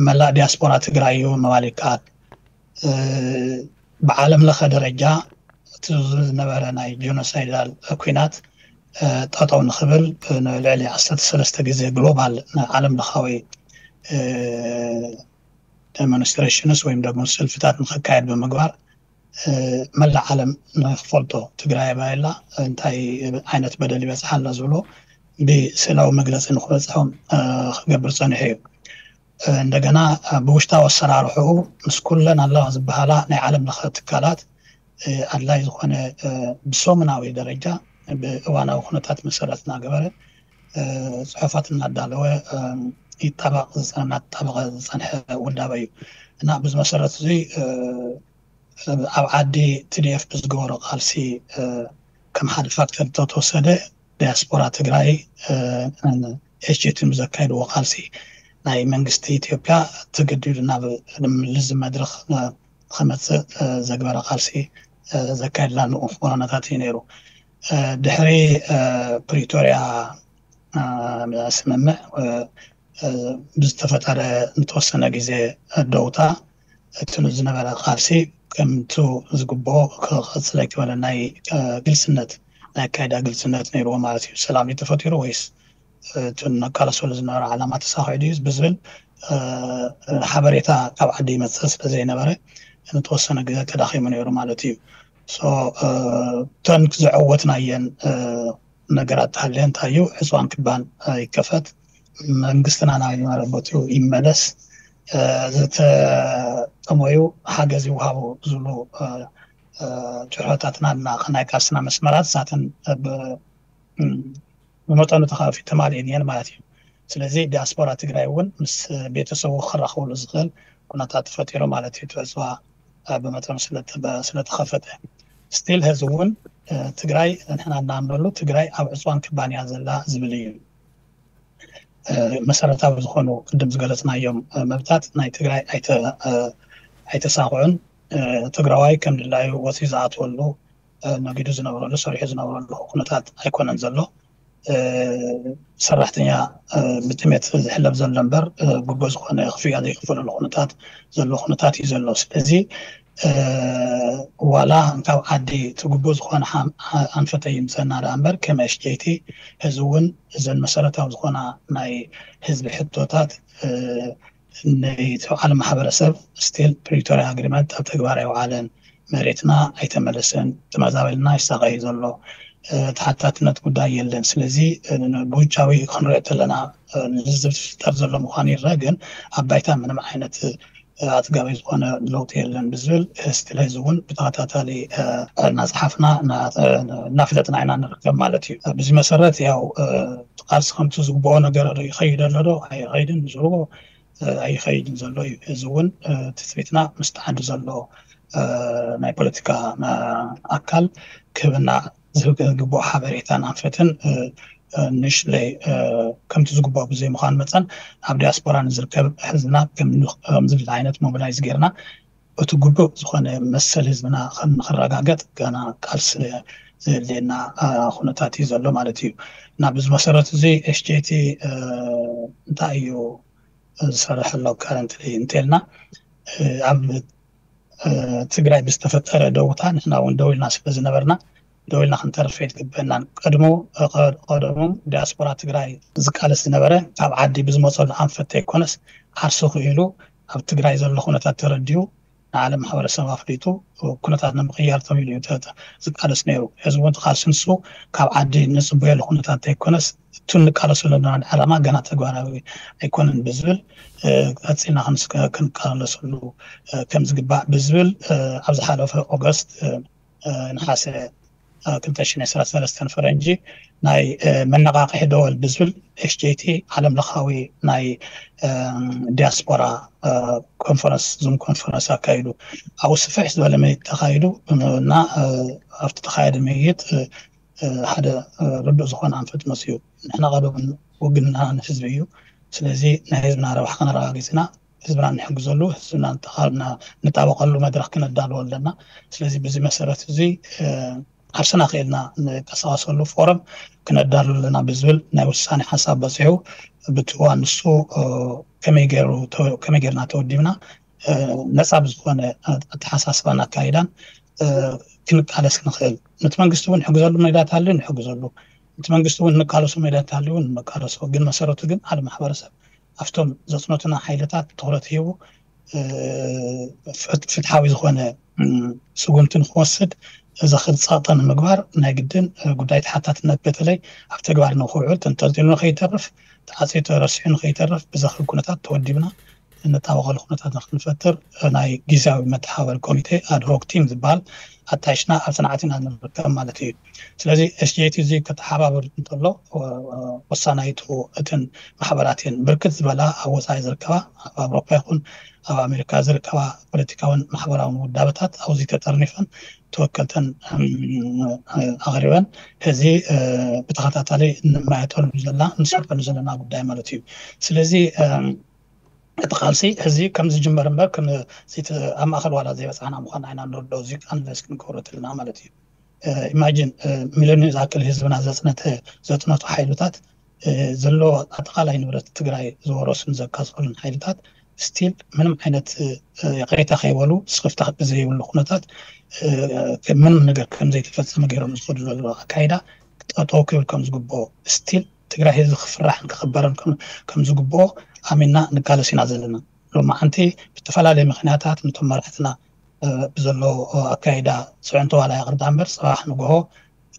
መላእ ዲያስፖራ ትግራይ እዩ ምባል ይከኣል። ብዓለም ለኸ ደረጃ እቲ ዝነበረ ናይ ጀኖሳይዳል ኩናት ጠጠው ንክብል ንልዕሊ ዓሰርተ ሰለስተ ግዜ ግሎባል ዓለም ለኻዊ ዴሞንስትሬሽንስ ወይም ደግሞ ሰልፍታት ንክካየድ ብምግባር መላእ ዓለም ንክፈልጦ ትግራይ ባይላ እንታይ ዓይነት በደል ይበፅሓ ኣላ ዝብሎ ብስእላዊ መግለፂ ንክበፅሖም ክገብር ፀኒሑ እዩ። እንደገና ብውሽጣዊ ኣሰራርሕኡ ምስ ኩለን ኣለዋ ዝበሃላ ናይ ዓለም ለኸ ትካላት ኣድላይ ዝኾነ ብሰሙናዊ ደረጃ ብእዋናዊ ኩነታት መሰረት እናገበረ ፅሑፋት እናዳለወ ይጣበቕ እናተጣበቐ ዝፀንሐ ውዳበ እዩ እና ብዚ መሰረት እዚ ኣብ ዓዲ TDF ብዝገበሮ ቃልሲ ከም ሓደ ፋክተር እንተተወሰደ ዲያስፖራ ትግራይ SJT ብዘካየድዎ ቃልሲ ናይ መንግስቲ ኢትዮጵያ ተገዲዱ ናብ ልዚ መድረክ ክመፅእ ዘግበረ ቃልሲ ዘካየድላ ንኡ ኩነታት እዩ ነይሩ። ድሕሪ ፕሪቶሪያ ስምምዕ ብዝተፈጠረ ንተወሰነ ግዜ ደውታ እቲ ዝነበረ ቃልሲ ከምቱ ዝግብኦ ክቐፅል ኣይክበለ ናይ ግልፅነት ናይ ኣካይዳ ግልፅነት ነይርዎ ማለት እዩ። ሰላም እዩ ተፈጢሩ ወይስ እቲ ነቃለሰሉ ዝነበረ ዓላማ ተሳኺዑ ድዩ ብዝብል ሓበሬታ ካብ ዓዲ ይመፅእ ስለ ዘይነበረ ንተወሰነ ግዜ ተዳኺሙ ነይሩ ማለት እዩ። እተን ዝዐወትናየን ነገራት ተሃልየ እንታይ እዩ ዕፅዋን ክባን ይከፈት፣ መንግስትና ናብ ዝነበረ ቦትኡ ይመለስ፣ ዝተጠመዩ ሓገዝ ይወሃቡ ዝብሉ ጭርሖታትና ናይ ቃልስና መስመራት እሳተን ብመጠኑ ተኻፊ ተማሊእን እየን ማለት እዩ። ስለዚ ዲያስፖራ ትግራይ እውን ምስ ቤተሰቡ ክራኸብሉ ዝኽእል ኩነታት ተፈጢሩ ማለት እዩ። እቲ ዕፅዋ ብመጠኑ ስለተኸፈተ ስቲል ህዚ እውን ትግራይ ንሕና እናምነሉ ትግራይ ኣብ ዕፅዋን ክባንያ ዘላ ዝብል እዩ። መሰረታዊ ዝኾኑ ቅድም ዝገለፅናዮም መብታት ናይ ትግራይ ኣይተሳኽዑን። ትግራዋይ ከም ድላዩ ወፂኡ ዝኣትወሉ ነጊዱ ዝነብረሉ ሰሪሑ ዝነብረሉ ኩነታት ኣይኮነን ዘሎ። ሰራሕተኛ ብጥሜት ዝሕለብ ዘሎ እምበር ግቡእ ዝኾነ ክፍያ ዘይክፈለሉ ኩነታት ዘሎ ኩነታት እዩ ዘሎ። ስለዚ ዋላ ካብ ዓዲ እቲ ግቡእ ዝኾነ ኣንፈተ ይምፀና ደኣ እምበር ከም SJT ህዚ እውን እዘን መሰረታዊ ዝኾና ናይ ህዝቢ ሕቶታት ነቲ ዓለም ማሕበረሰብ ስቲል ፕሪቶሪያ ኣግሪመንት ኣብ ተግባር ኣይወዓለን። መሬትና ኣይተመለሰን። ተመዛበልና ይሳቐ እዩ ዘሎ። ተሓታትነት ጉዳይ የለን። ስለዚ ብውጫዊ ክንሪኦ ተለና ልዝብ ዝፍጠር ዘሎ ምዃኑ ይረአ፣ ግን ኣብ ባይታ ምንም ዓይነት ኣጥጋቢ ዝኾነ ለውጢ የለን ብዝብል ስቲል ህዚ እውን ብተኸታታሊ እናፀሓፍና እናፍለጥና ኢና ንርከብ ማለት እዩ። ብዚ መሰረት ያው ቃልሲ ከምቲ ዝግብኦ ነገር ይኸይድ ኣሎ ዶ ኣይኸይድን ዝብልዎ ኣይኸይድን ዘሎ እዩ። እዚ እውን ትፅቢትና ምስቲ ዓዲ ዘሎ ናይ ፖለቲካ ኣካል ክህበና ዝግብኦ ሓበሬታን ኣንፈትን ንሽለይ ከምቲ ዝግብኦ ብዘይምዃን መፀን ኣብ ዲያስፖራ ንዝርከብ ህዝብና ከምዚ ዓይነት ሞቢላይዝ ጌርና እቲ ግቡእ ዝኾነ መሰል ህዝብና ከም ንክረጋገጥ ገና ቃልሲ ዘድልየና ኩነታት እዩ ዘሎ ማለት እዩ። እና ብዚ መሰረት እዚ ኤስጄቲ እንታይ እዩ ዝሰርሕ ኣሎ ካረንትሊ እንተልና ኣብ ትግራይ ብዝተፈጠረ ደውታ ንሕና እውን ደው ኢልና ስለ ዝነበርና ደው ኢልና ክንተርፍ ይግበናን ቀድሞ ቀደሞም ዲያስፖራ ትግራይ ዝቃለስ ዝነበረ ካብ ዓዲ ብዝመፀሉ ኣንፈት ዘይኮነስ ዓርሱ ክኢሉ ኣብ ትግራይ ዘሎ ኩነታት ተረዲኡ ንዓለም ማሕበረሰብ ኣፍሊጡ ኩነታት ንምቕያር ተባሂሉ እዩ ዝቃለስ ነይሩ። እዚ እውን ቃልሲ ንሱ ካብ ዓዲ ንፅበየሉ ኩነታት ዘይኮነስ እቱ ንቃለሰሉ ዘለና ዓላማ ገና ተግባራዊ ኣይኮነን ብዝብል ቀፂልና ክንቃለሰሉ ከም ዝግባእ ብዝብል ኣብ ዝሓለፈ ኦገስት ነሓሰ ክልተ ሽሕን ዕስራን ሰለስተን ፈረንጂ ናይ መነቓቕሒ ደወል ብዝብል ኤስጄቲ ዓለም ለኻዊ ናይ ዲያስፖራ ኮንፈረንስ ዙም ኮንፈረንስ ኣካይዱ ኣብኡ ስፍሕ ዝበለ ምይይጥ ተኻይዱ እና ኣብቲ ተኻየደ ምይይጥ ሓደ ርዱእ ዝኾነ ኣንፈት መፅኡ ንሕና ቀደም ውግንና ንህዝቢ እዩ ስለዚ ናይ ህዝብና ረብሓ ከነረጋጊፅና ህዝብና ንሕግዘሉ ህዝብና ንጣበቀሉ መድረክ ክነዳልዎ ኣለና ስለዚ ብዚ መሰረት እዚ ዓርስና ክእልና ንቀሳቀሰሉ ፎረም ክነዳሉ ኣለና ብዝብል ናይ ውሳኔ ሓሳብ በፂሑ ብትዋ ንሱ ከመይ ገርና ተወዲብና ነፃ ብዝኮነ ኣተሓሳስባን ኣካይዳን ክንቃለስ ንክእል ነቲ መንግስቲ እውን ንሕግዘሉ ሜዳት ሃልዩ ንሕግዘሉ ነቲ መንግስቲ እውን ንቃለሶ ሜዳት ሃልዩ እውን ንቃለሶ ግን መሰረቱ ግን ሓደ ማሕበረሰብ ኣብቶም ዘፅነቱና ሓይልታት ትኩረት ሂቡ ፍትሓዊ ዝኾነ ስጉምቲ ንክወስድ እዚ ክልፃጠ ንምግባር ናይ ግድን ጉዳይ ተሓታትነት በተለይ ኣብ ተግባር ንክውዕል ተንጠልጢሉ ንከይተርፍ ተዓፅዩ ተረሲሑ ንከይተርፍ ብዘኽእል ኩነታት ተወዲብና እንጣበቀሉ ኩነታት ንክንፈጥር ናይ ግዝያዊ መተሓባበሪ ኮሚቴ ኣድሆክ ቲም ዝበሃል ኣጣይሽና ኣብ ፅንዓት ኢና ንርከብ ማለት እዩ። ስለዚ ኤስጂቲ እዚ ከተሓባብር እንተሎ ወሳናይቱ እትን ማሕበራት እየን ብርክት ዝበላ ኣብ ወፃኢ ዝርከባ ኣብ ኣውሮፓ ይኹን ኣብ ኣሜሪካ ዝርከባ ፖለቲካውን ማሕበራውን ውዳበታት ኣብዚ ተጠርኒፈን ተወከልተን ኣቕሪበን ሕዚ ብተኸታታሊ ንማየጠሉ ዘለና ንሰርሐሉ ዘለና ጉዳይ ማለት እዩ። ስለዚ እቲ ቃልሲ ሕዚ ከም ዝጅመር እምበር ኣብ ማእኸል ዋላ ዘይበፃሕና ምኳና ኢና ንርድኦ እዚ ኣንለስ ክንገብሮ ተለና ማለት እዩ። ኢማጂን ሚሊዮን ዝኣክል ህዝብና ዘፅነተ ዘፅነቱ ሓይልታት ዘሎ ኣጠቃላይ ንብረት ትግራይ ዝወረሱን ዘካፀሉን ሓይልታት ስቲል ምንም ዓይነት ይቅሬታ ከይበሉ ስክፍታ ብዘይብሉ ኩነታት ምንም ነገር ከም ዘይተፈፀመ ገይሮም ዝኸዱ ዘሎ ኣካይዳ ጠጠው ክብል ከም ዝግብኦ ስቲል ትግራይ ህዝቢ ክፍራሕን ክኽበርን ከም ዝግብኦ ኣሚንና ንቃለስ ኢና ዘለና። ሎማዓንቲ ብዝተፈላለየ ምኽንያታት ነቶም መራሕትና ብዘሎ ኣካይዳ ፅዕንቶ ዋላ ይቕርዳ እምበር ፅባሕ ንግሆ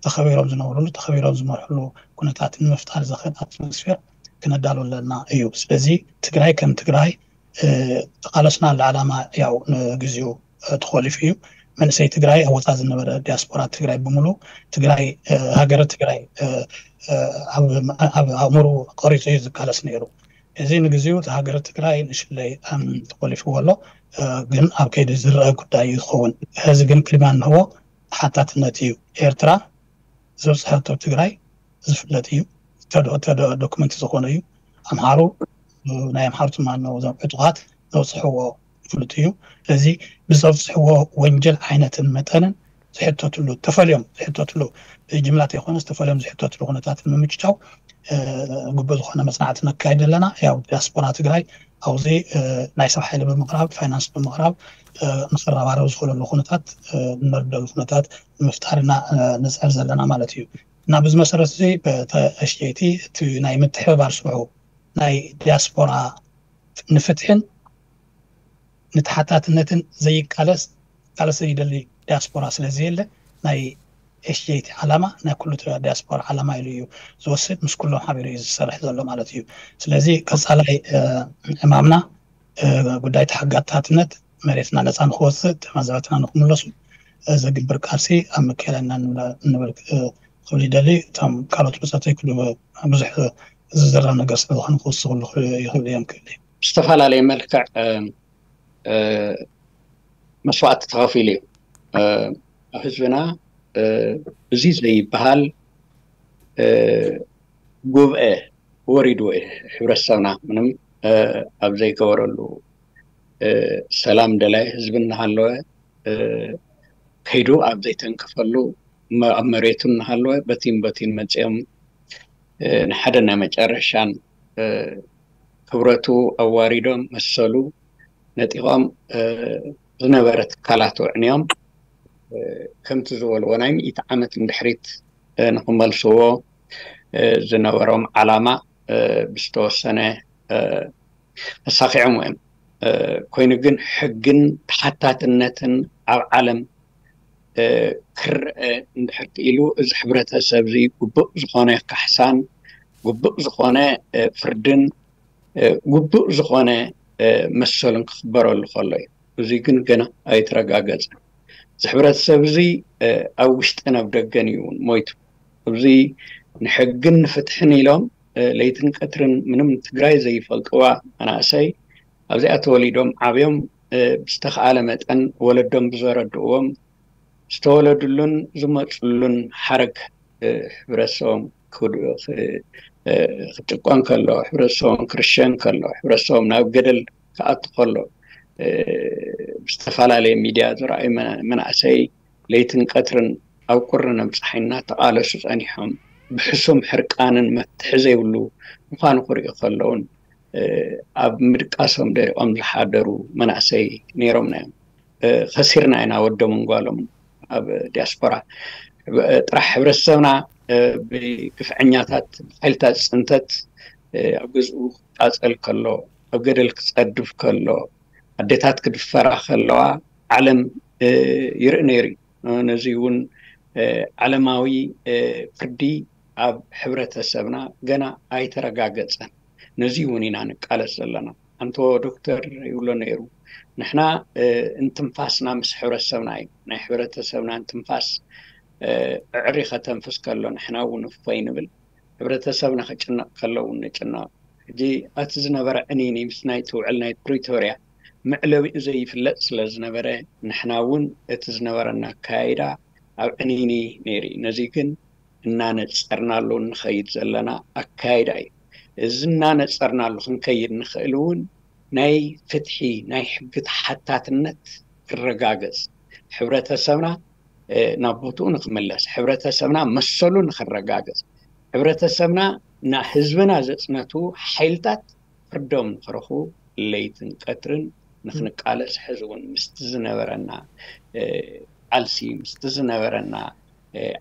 ተኸቢሮም ዝነብሩሉ ተኸቢሮም ዝመርሕሉ ኩነታት ንምፍጣር ዘኽእል ኣትሞስፌር ክነዳሉ ኣለና እዩ። ስለዚ ትግራይ ከም ትግራይ ተቃለስናሉ ዓላማ ያው ንግዚኡ ተኾሊፉ እዩ። መንእሰይ ትግራይ ኣብ ወፃኢ ዝነበረ ዲያስፖራ ትግራይ ብምሉ ትግራይ ሃገረ ትግራይ ኣብ ኣእምሩ ቀሪፁ እዩ ዝቃለስ ነይሩ። እዚ ንግዚኡ እቲ ሃገረ ትግራይ ንሽለይ ተኾሊፍዎ ኣሎ። ግን ኣብ ከይዲ ዝረአ ጉዳይ እዩ ዝኸውን። ሕዚ ግን ቅድሚያ እንህቦ ተሓታትነት እዩ። ኤርትራ ዘብፅሐቶ ትግራይ ዝፍለጥ እዩ። ዶክመንት ዝኾነ እዩ። ኣምሓሩ ናይ ኣምሓሩ ትማኖ እዞም ዕጡቓት ዘብፅሕዎ ፍሉጥ እዩ። ስለዚ ብዘብፅሕዎ ወንጀል ዓይነትን መጠንን ዝሕተትሉ ተፈልዮም ዝሕተትሉ ብጅምላ ተይኮነ ዝተፈልዮም ዝሕተትሉ ኩነታት ንምምችቻው ግቡእ ዝኾነ መፅናዕቲ ነካይድ ኣለና። ያው ዲያስፖራ ትግራይ ኣብዚ ናይ ሰብ ሓይሊ ብምቕራብ ፋይናንስ ብምቕራብ ንክረባረብ ዝኽእለሉ ኩነታት ንመርደሉ ኩነታት ንምፍጣር ኢና ንፅዕር ዘለና ማለት እዩ። እና ብዚ መሰረት እዚ በተሽየቲ እቲ ናይ ምትሕብባር ስርሑ ናይ ዲያስፖራ ንፍትሕን ንተሓታትነትን ዘይቃለስ ቃለስ ዘይደሊ ዲያስፖራ ስለዘየለ ናይ ኤስጄቲ ዓላማ ናይ ኩሉ ዲያስፖራ ዓላማ ኢሉ እዩ ዝወስድ ምስ ኩሎም ሓቢሩ እዩ ዝሰርሕ ዘሎ ማለት እዩ። ስለዚ ቀፃላይ ዕማምና ጉዳይ ተሓጋታትነት መሬትና ነፃ ንክወፅእ ተመዛበትና ንክምለሱ ዘግብር ቃልሲ ኣብ መካየዳ ኢና ንብል ክብል ይደሊ። እቶም ካልኦት ብፀተይ ኩሉ ብዙሕ ዝዝረብ ነገር ስለዝኾነ ክወስኽሉ ይኽእሉ እዮም ክብል ብዝተፈላለየ መልክዕ መስዋእቲ ተኸፊሉ እዩ። ኣብ ህዝብና እዚ ዘይበሃል ጉብኤ ወሪዱ፣ ሕብረተሰብና ምንም ኣብ ዘይገበረሉ፣ ሰላም ደላይ ህዝቢ እናሃለወ፣ ከይዱ ኣብ ዘይተንከፈሉ፣ ኣብ መሬቱ እናሃለወ በቲን በቲን መፂኦም ንሓደ ናይ መጨረሻን ክብረቱ ኣዋሪዶም፣ መሰሉ ነጢቖም፣ ዝነበረ ትካላቱ ኣዕንዮም፣ ከምቲ ዝበልዎ ናይ ሚእቲ ዓመት ንድሕሪት ንክመልስዎ ዝነበሮም ዓላማ ብዝተወሰነ ኣሳኺዖም እዮም። ኮይኑ ግን ሕግን ተሓታትነትን ኣብ ዓለም ክረአ እንድሕር ክኢሉ፣ እዚ ሕብረተሰብ እዚ ግቡእ ዝኾነ ካሕሳን ግቡእ ዝኾነ ፍርድን ግቡእ ዝኾነ መሰሉን ክኽበረሉ ከሎ እዩ። እዚ ግን ገና ኣይተረጋገጸን። እዚ ሕብረተሰብ እዚ ኣብ ውሽጥን ኣብ ደገን እዩ እውን ሞይቱ። እዚ ንሕግን ንፍትሕን ኢሎም ለይትን ቀትርን ምንም ትግራይ ዘይፈልጥዋ መናእሰይ ኣብዚኣ ተወሊዶም ዓብዮም፣ ብዝተኻኣለ መጠን ወለዶም ብዘረድእዎም ዝተወለድሉን ዝመፅሉን ሓረግ፣ ሕብረተሰቦም ክጭቆን ከሎ፣ ሕብረተሰቦም ክርሸን ከሎ፣ ሕብረተሰቦም ናብ ገደል ክኣቱ ከሎ፣ ብዝተፈላለየ ሚድያ ዝረኣዩ መናእሰይ ለይትን ቀትርን ኣብ ቁሪ ነብፅሓይ እናተቓለሱ ፀኒሖም፣ ብሕሱም ሕርቃንን መፍትሒ ዘይብሉ ምዃኑ ክርእዩ ከለውን ኣብ ምድቃሶም ደሪቖም ዝሓደሩ መናእሰይ ነይሮምና እዮም። ከሲርና ኢና ወዶምን ጓሎም ኣብ ዲያስፖራ። ጥራሕ ሕብረተሰብና ብግፍዐኛታት፣ ብሓይልታት ፅንተት ኣብ ገዝኡ ክቃፀል ከሎ፣ ኣብ ገደል ክፀድፍ ከሎ፣ ኣዴታት ክድፈራ ከለዋ ዓለም ይርኢ ነይሩ እዩ። ነዚ እውን ዓለማዊ ፍርዲ ኣብ ሕብረተሰብና ገና ኣይተረጋገፀን። ነዚ እውን ኢና ንቃለስ ዘለና። ኣንቶ ዶክተር ይብሎ ነይሩ፣ ንሕና እንትንፋስና ምስ ሕብረተሰብና እዩ። ናይ ሕብረተሰብና እንትንፋስ ዕዕሪ ከተንፍስ ከሎ ንሕና እውን እፎይ ንብል። ሕብረተሰብና ክጭነቕ ከሎ እውን ንጭነቕ። ሕጂ እቲ ዝነበረ ዕኒኒ ምስ ናይ ትውዕል ናይ ፕሪቶርያ መዕለቢኡ ዘይፍለጥ ስለ ዝነበረ፣ ንሕና እውን እቲ ዝነበረና ኣካያይዳ ኣብ ዕኒኒ ነይሩ እዩ። ነዚ ግን እናነፀርናሉ እንኸይድ ዘለና ኣካይዳ እዩ። እዚ እናነፀርናሉ ክንከይድ ንኽእል እውን ናይ ፍትሒ፣ ናይ ሕጊ ተሓታትነት ክረጋገፅ፣ ሕብረተሰብና ናብ ቦትኡ ንክምለስ፣ ሕብረተሰብና መሰሉ ንክረጋገፅ፣ ሕብረተሰብና ንህዝብና ዘፅነቱ ሓይልታት ፍርዶም ንክረኽቡ ለይትን ቀትርን ንክንቃለስ፣ ሕዚ እውን ምስቲ ዝነበረና ቃልሲ፣ ምስቲ ዝነበረና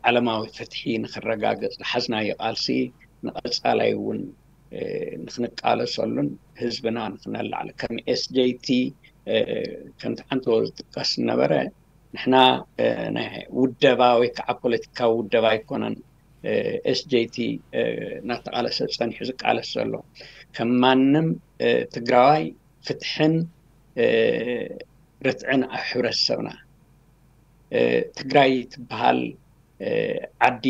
ዓለማዊ ፍትሒ ንክረጋገፅ ዝሓዝናዮ ቃልሲ ንቐፃላይ እውን ንክንቃለሰሉን ህዝብና ንክነላዕል ከም ኤስጄቲ ከምቲ ሓንቲ ዝጥቀስ ዝነበረ ንሕና ናይ ውደባ ወይ ከዓ ፖለቲካዊ ውደባ ኣይኮነን ኤስጄቲ እናተቃለሰ ፀኒሑ ዝቃለስ ዘሎ። ከም ማንም ትግራዋይ ፍትሕን ርትዕን ኣብ ሕብረተሰብና ትግራይ ትበሃል ዓዲ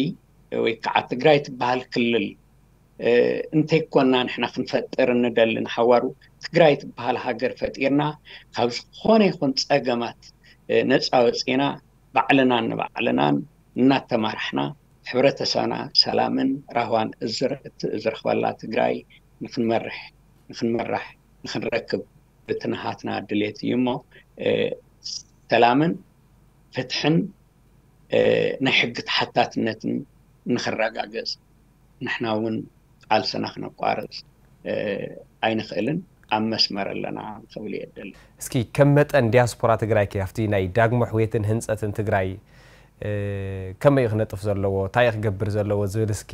ወይ ከዓ ትግራይ ትበሃል ክልል እንተይኮና ንሕና ክንፈጥር እንደሊ ንሓዋሩ ትግራይ ትበሃል ሃገር ፈጢርና ካብ ዝኾነ ይኹን ፀገማት ነፃ ወፂና ባዕልናን ንባዕልናን እናተማራሕና ሕብረተሰብና ሰላምን ራህዋን እዝረክበላ ትግራይ ንክንመርሕ ንክንመራሕ ንክንረክብ ብትንሃትና ድሌት እዩ እሞ ሰላምን ፍትሕን ናይ ሕጊ ተሓታትነትን ንክረጋገፅ ንሕና እውን ቃልስና ክነቋርፅ ኣይንኽእልን ኣብ መስመር ኣለና ክብል እየ ደሊ። እስኪ ከም መጠን ዲያስፖራ ትግራይ ከ ኣብቲ ናይ ዳግሞ ሕውየትን ህንፀትን ትግራይ ከመይ እዩ ክነጥፍ ዘለዎ እንታይ እዩ ክገብር ዘለዎ ዝብል እስኪ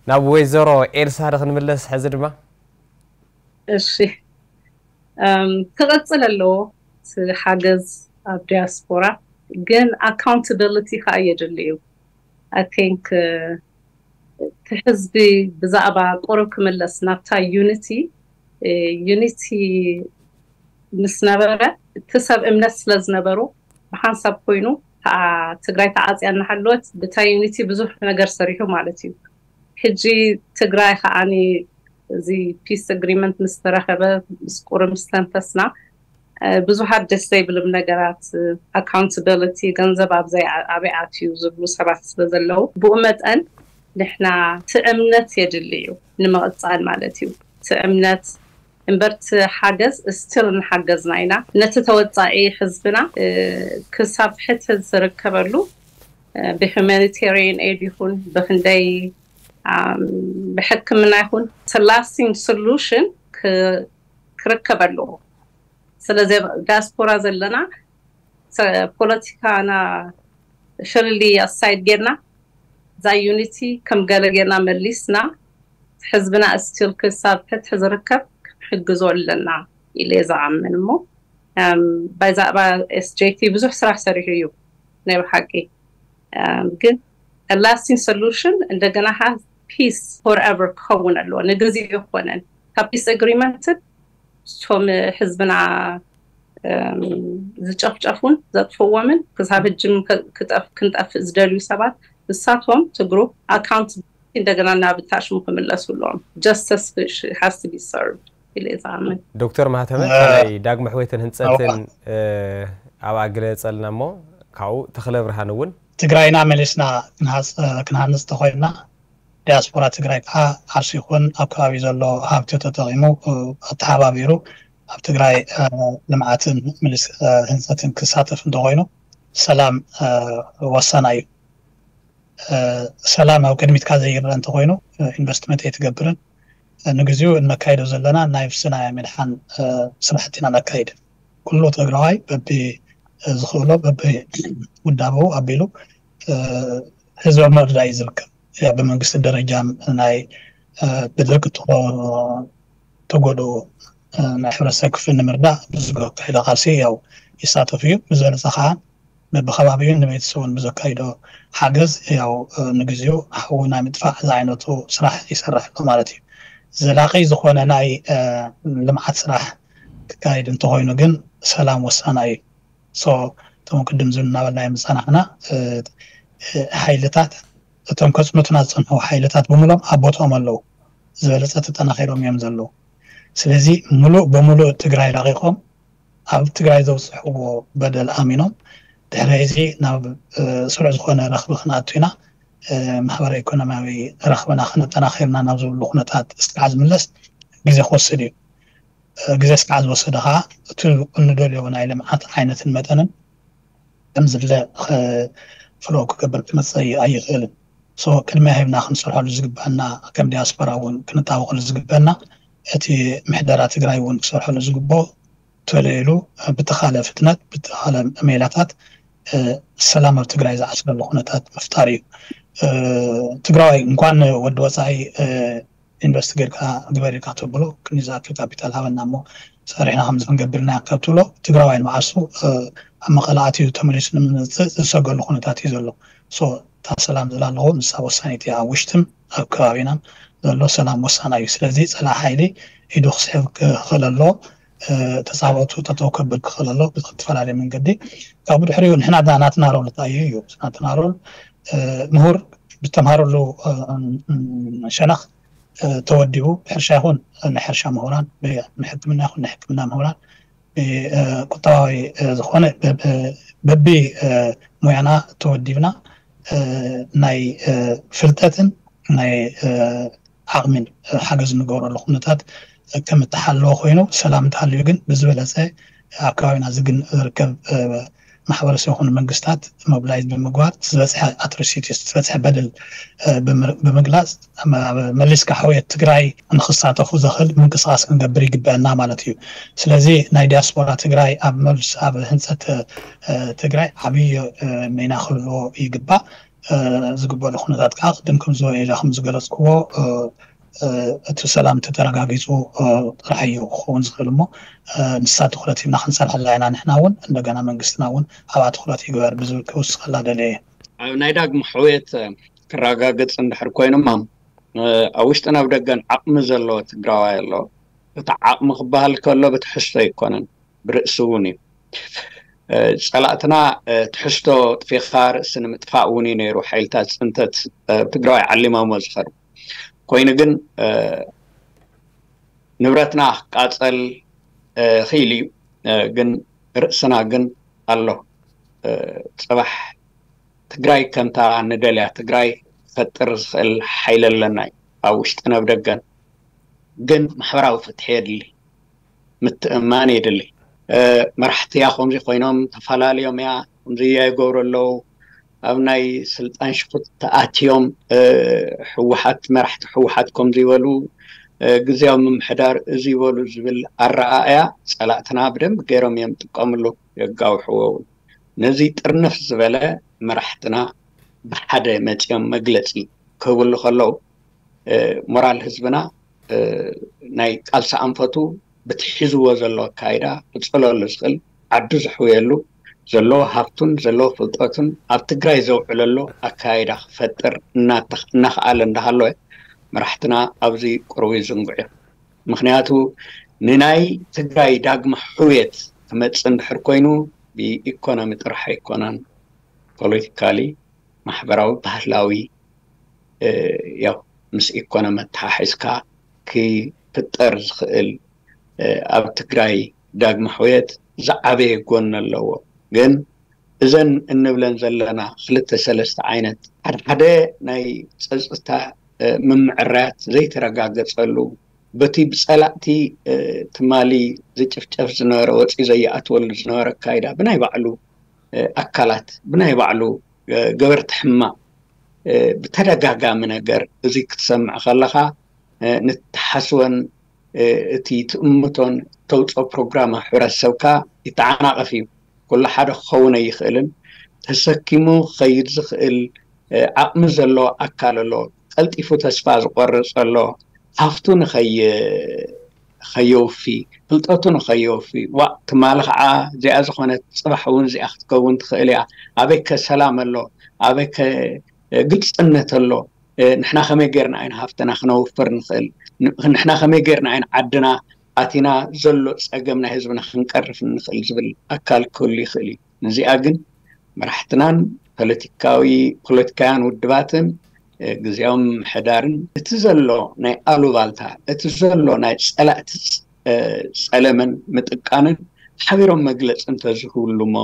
ናብ ወይዘሮ ኤልሳ ዶ ክንምለስ ሕዚ ድማ እሺ ክቐፅል ኣለዎ እቲ ሓገዝ ኣብ ዲያስፖራ ግን ኣካውንታብሊቲ ከዓ የድሊ እዩ I think እቲ ህዝቢ ብዛዕባ ቁሩብ ክምለስ ናብታ ዩኒቲ ዩኒቲ ምስ ነበረ እቲ ሰብ እምነት ስለ ዝነበሩ ብሓንሳብ ኮይኑ ከዓ ትግራይ ተዓፅያ እናሃለወት ብታ ዩኒቲ ብዙሕ ነገር ሰሪሑ ማለት እዩ ሕጂ ትግራይ ከዓኒ እዚ peace agreement ምስ ተረኸበ፣ ምስ ቁሪ ምስ ተንፈስና፣ ብዙሓት ደስ ዘይብልም ነገራት፣ ኣካውንታብሊቲ፣ ገንዘብ ኣብዘይ ኣበይ ኣትዩ ዝብሉ ሰባት ስለ ዘለዉ፣ ብኡ መጠን ንሕና እቲ እምነት የድሊ እዩ ንምቕፃል ማለት እዩ። እቲ እምነት እምበር እቲ ሓገዝ ስቲል እናሓገዝና ኢና። ነቲ ተወፃኢ ህዝብና ክሳብ ፍትሒ ዝርከበሉ ብሁማኒቴሪያን ኤድ ይኹን ብክንደይ ብሕክምና ይኹን ላስቲንግ ሶሉሽን ክርከብ ኣለዎ። ስለዚ ዳያስፖራ ዘለና ፖለቲካና ሸልሊ ኣሳይድ ጌርና እዛ ዩኒቲ ከም ገለ ጌርና መሊስና ህዝብና ስቲል ክሳብ ፍትሒ ዝርከብ ክንሕግዞ ኣለና ኢለ እየ ዝኣምን። እሞ ባይዛዕባ ኤስጄቲ ብዙሕ ስራሕ ሰሪሑ እዩ ናይ ብሓቂ። ግን ላስቲንግ ሶሉሽን እንደገና ሀ ፒስ ፎርኤቨር ክኸውን ኣለዎ። ንግዜ ይኮነን ካብ ፒስ ኣግሪመንትን እቶም ህዝብና ዝጨፍጨፉን ዘጥፍዎምን ክሳብ ህጅም ክንጠፍእ ዝደልዩ ሰባት ንሳቶም ትግሩ ኣካውንት እንደገና ናብ ታሽሙ ክምለሱ ኣለዎም። ጀስተስ ሃስ ቢ ሰርቭድ ኢለ ዝኣምን። ዶክተር ማህተመ ናይ ዳግመ ሕወየትን ህንፀትን ኣብኣ ግለፀልና እሞ ካብኡ ተኽለ ብርሃን እውን ትግራይና መሊስና ክንሃንፅ ተኮይንና ዲያስፖራ ትግራይ ከዓ ዓርሱ ይኹን ኣብ ከባቢ ዘሎ ሃብቲ ተጠቂሙ ኣተሓባቢሩ ኣብ ትግራይ ልምዓትን ህንፀትን ክሳተፍ እንተኮይኑ ሰላም ወሳና እዩ። ሰላም ኣብ ቅድሚትካ ዘይረአ እንተኮይኑ ኢንቨስትመንት ኣይትገብርን። ንግዚኡ እንመካይዶ ዘለና ናይ ብስና ምድሓን ስራሕቲ ኢና ነካይድ። ኩሉ ትግራዋይ በቢ ዝኽእሎ በቢ ውዳበኡ ኣቢሉ ህዝቢ ምርዳእ እዩ ዝርከብ። ብመንግስቲ ደረጃ ናይ ብድርቂ ተጎድኡ ናይ ሕብረተሰብ ክፍል ንምርዳእ ብዝካየደ ቃልሲ ያው ይሳተፍ እዩ። ብዝበለፀ ከዓ በብከባቢኡን ንቤተሰቡን ብዘካይዶ ሓገዝ ያው ንግዚኡ ሓዊ ናይ ምጥፋእ ዝዓይነቱ ስራሕ ይሰርሕ ኣሎ ማለት እዩ። ዘላቂ ዝኾነ ናይ ልምዓት ስራሕ ክካየድ እንተኮይኑ ግን ሰላም ወሳና እዩ። ሶ እቶም ቅድም ዝብል እናበልና እዮም ዝፀናሕና ሓይልታት እቶም ከፅንቱና ዝፀንሑ ሓይልታት ብምሎም ኣብ ቦትኦም ኣለዉ። ዝበለፀ ተጠናኺሮም እዮም ዘለዉ። ስለዚ ሙሉእ በሙሉእ ትግራይ ለቒቖም ኣብ ትግራይ ዘብፅሕዎ በደል ኣሚኖም ድሕሪ እዚ ናብ ስሩዕ ዝኾነ ረኽቢ ክንኣቱ ኢና፣ ማሕበረ ኢኮኖሚያዊ ረኽብና ከነጠናኺርና ናብ ዝብሉ ኩነታት እስካዕ ዝምለስ ግዜ ክወስድ እዩ። ግዜ እስካዕ ዝወሰደ ከዓ እቲ እንደልዮ ናይ ልምዓት ዓይነትን መጠንን ከም ዝድለ ፍሮ ክገብር ክመፅእ ኣይኽእልን። ሶ ቅድሚያ ሂብና ክንሰርሐሉ ዝግበአና ከም ዲያስፖራ እውን ክንጣበቀሉ ዝግበአና እቲ ምሕደራ ትግራይ እውን ክሰርሐሉ ዝግበኦ ተለይሉ ብተኻለ ፍጥነት ብተኻለ ሜላታት ሰላም ኣብ ትግራይ ዝዓስለሉ ኩነታት ምፍጣር እዩ። ትግራዋይ እንኳን ወዲ ወፃኢ ኢንቨስት ጌርካ ግበር ኢልካ ተብሎ ክንዲ ዝኣክል ካፒታል ሃበና እሞ ሰሪሕና ከምዚ ክንገብር ኢና ካብ ትብሎ ትግራዋይ ንባዕሱ ኣብ መቐለ ኣትዩ ተመሊሱ ንምምፅእ ዝሰገሉ ኩነታት እዩ ዘሎ። ሶ እታ ሰላም ዝላ ኣለኹ ንሳ ወሳኒት እያ። ኣብ ውሽጥን ኣብ ከባቢናን ዘሎ ሰላም ወሳና እዩ። ስለዚ ፀላኢ ሓይሊ ኢዱ ክስሕብ ክኽእል ኣሎ። ተፃባእቱ ጠጠው ከብል ክኽእል ኣሎ ብዝተፈላለየ መንገዲ። ካብ ብድሕሪኡ ንሕና ናትና ሮል እንታይ እዩ እዩ ናትና ሮል ምሁር ብዝተምሃረሉ ሸነኽ ተወዲቡ ብሕርሻ ይኹን ናይ ሕርሻ ምሁራን፣ ብሕክምና ይኹን ናይ ሕክምና ምሁራን፣ ብቁጠባዊ ዝኾነ በቢ ሙያና ተወዲብና ናይ ፍልጠትን ናይ ዓቕሚን ሓገዝ እንገብረሉ ኩነታት ከም እተሓለወ ኮይኑ ሰላም እንተሃልዩ ግን ብዝበለፀ ኣብ ከባቢና ዝርከብ ማሕበረሰብ ይኹን መንግስታት ሞቢላይዝ ብምግባር ዝበፅሐ ኣትሮሲቲስ ዝበፅሐ በደል ብምግላፅ መሊስካ ሕውየት ትግራይ ንክሳተፉ ዘኽእል ምንቅስቃስ ክንገብር ይግበአና ማለት እዩ። ስለዚ ናይ ዲያስፖራ ትግራይ ኣብ መልስ ኣብ ህንፀት ትግራይ ዓብዪ ሚና ክህልዎ ይግባእ። ዝግበሉ ኩነታት ከዓ ቅድም ከም ዝበለ ኢለ ከም ዝገለፅክዎ እቲ ሰላም ተተረጋጊፁ ጥራሕ እዩ ክኸውን ዝኽእል እሞ ንሳ ትኩረት ሂብና ክንሰርሐላ ኢና። ንሕና እውን እንደገና መንግስትና እውን ኣብኣ ትኩረት ይግበር ብዝብል ክውስኸላ ደልየ እየ። ኣብ ናይ ዳግም ሕውየት ክረጋገፅ እንድሕር ኮይኑማ ኣብ ውሽጥን ኣብ ደገን ዓቕሚ ዘለዎ ትግራዋይ ኣሎ። እቲ ዓቕሚ ክበሃል ከሎ ብትሕዝቶ ኣይኮነን ብርእሲ እውን እዩ። ፀላእትና ትሕዝቶ ጥፊኻ ርእሲ ንምጥፋእ እውን እዩ ነይሩ ሓይልታት ፅንተት ትግራዋይ ዓሊማሞ ዝኸዱ። ኮይኑ ግን ንብረትና ክቃፀል ክኢል እዩ። ግን ርእስና ግን ኣሎ። ፅባሕ ትግራይ ከምታ ንደልያ ትግራይ ክፈጥር ዝኽእል ሓይሊ ኣለና እዩ፣ ኣብ ውሽጥን ኣብ ደገን። ግን ማሕበራዊ ፍትሒ የድሊ፣ ምትእማን የድሊ። መራሕቲ እያ ከምዚ ኮይኖም ተፈላለዮም እያ ከምዚ እያ ይገብሩ ኣለዉ። ኣብ ናይ ስልጣን ሽኩት ተኣትዮም ህወሓት፣ መራሕቲ ህወሓት ከምዚ ይበሉ፣ ግዜያዊ ምምሕዳር እዚ ይበሉ ዝብል ኣረኣእያ ፀላእትና ብደንብ ገይሮም እዮም ጥቀምሉ፣ የጋውሕዎ እውን። ነዚ ጥርንፍ ዝበለ መራሕትና ብሓደ መፂኦም መግለፂ ክህብሉ ከለዉ ሞራል ህዝብና ናይ ቃልሲ ኣንፈቱ ብቲ ሒዝዎ ዘሎ ኣካይዳ ክፅለሉ ዝኽእል ዓዱ ዘሕውየሉ ዘለዎ ሃፍቱን ዘለዎ ፍልጠቱን ኣብ ትግራይ ዘውዕለሉ ኣካይዳ ክፈጥር እናኸኣለ እንዳሃለወ መራሕትና ኣብዚ ቅርቡ ይዝንግዑ እዮም። ምክንያቱ ንናይ ትግራይ ዳግመ ሕውየት ክመፅእ እንድሕር ኮይኑ ብኢኮኖሚ ጥራሕ ኣይኮነን፣ ፖለቲካሊ፣ ማሕበራዊ፣ ባህላዊ ያው ምስ ኢኮኖሚ ኣተሓሒዝካ ክፍጠር ዝኽእል ኣብ ትግራይ ዳግመ ሕውየት ዝዓበየ ጎኒ ኣለዎ። ግን እዘን እንብለን ዘለና ክልተ ሰለስተ ዓይነት ሓደ ሓደ ናይ ፀፅታ ምምዕራያት ዘይተረጋገፀሉ በቲ ብፀላእቲ ትማሊ ዝጭፍጨፍ ዝነበረ ወፂ ዘይኣትወሉ ዝነበረ ኣካይዳ ብናይ ባዕሉ ኣካላት ብናይ ባዕሉ ገበርቲ ሕማቕ ብተደጋጋሚ ነገር እዚ ክትሰምዕ ከለኻ ንትሓስቦን እቲ ትእምቶን ተውፅኦ ፕሮግራም ኣብ ሕብረተሰብካ ይተዓናቐፍ እዩ። ኩሉ ሓደ ክኸውን ኣይኽእልን። ተሰኪሙ ክኸይድ ዝኽእል ዓቕሚ ዘለዎ ኣካል ኣሎ። ቀልጢፉ ተስፋ ዝቆርፅ ኣሎ። ሃፍቱ ንኸይ ከየውፊ፣ ፍልጠቱ ንኸየውፊ። ዋእ ትማሊ ከዓ እዚኣ ዝኾነት ፅባሕ እውን እዚኣ ክትከውን ትኽእል እያ። ኣበይ ከ ሰላም ኣሎ? ኣበይ ከ ግልፅነት ኣሎ? ንሕና ከመይ ጌርና ኢና ሃፍትና ክነውፍር ንኽእል? ንሕና ከመይ ጌርና ኢና ዓድና ኣቲና ዘሎ ፀገም ናይ ህዝብና ክንቀርፍ ንኽእል ዝብል ኣካል ክህሉ ይኽእል እዩ። ነዚኣ ግን መራሕትናን ፖለቲካዊ ፖለቲካውያን ውድባትን ግዜያዊ ምምሕዳርን እቲ ዘሎ ናይ ኣሉባልታ እቲ ዘሎ ናይ ፀላእቲ ፀለመን ምጥቃንን ሓቢሮም መግለፂ እንተዝህብሉ እሞ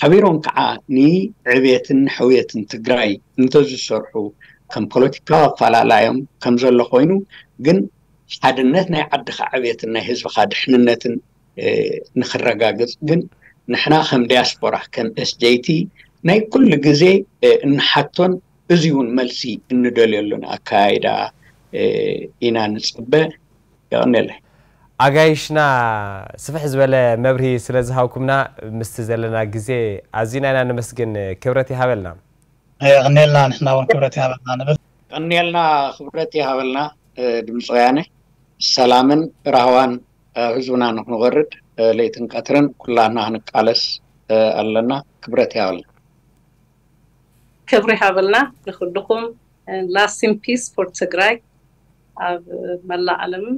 ሓቢሮም ከዓ ንዕብየትን ንሕውየትን ትግራይ እንተዝሰርሑ ከም ፖለቲካዊ ኣፈላላዮም ከም ዘሎ ኮይኑ ግን ሓድነት ናይ ዓድኻ ዕብየትን ናይ ህዝብኻ ድሕንነትን ንክረጋግፅ ግን ንሕና ከም ዲያስፖራ ከም ኤስጀይቲ ናይ ኩሉ ግዜ እንሓቶን እዚ እውን መልሲ እንደልየሉን ኣካያይዳ ኢና ንፅበ። የቐንየለይ። ኣጋይሽና ስፍሕ ዝበለ መብርሂ ስለ ዝሃብኩምና ምስቲ ዘለና ግዜ ኣዚና ኢና ነመስግን። ክብረት ይሃበልና። የቐንየልና። ንሕና እውን ክብረት ይሃበልና ንብል። የቐንየልና። ክብረት ይሃበልና። ድምፂ ወያነ ሰላምን ራህዋን ህዝብና ንክንወርድ ለይትን ቀትርን ኩላና ክንቃለስ ኣለና። ክብረት ይሃበልና። ክብሪ ሃበልና ንኩልኩም። Rest in peace for ትግራይ ኣብ መላእ ዓለምን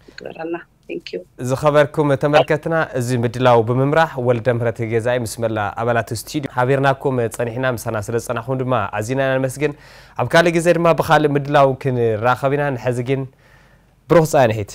ይግበረልና። Thank you። ዝኸበርኩም ተመልከትና፣ እዚ ምድላው ብምምራሕ ወልደ ምህረት ገዛኢ ምስ መላ ኣባላት ስቱዲዮ ሓቢርናኩም ጸኒሕና። ምሳና ስለ ዝጸናሕኩም ድማ ኣዚና ኢና ነመስግን። ኣብ ካልእ ግዜ ድማ ብኻልእ ምድላው ክንራኸብ ኢና። ንሐዚ ግን ብሩኽ ጻንሒት።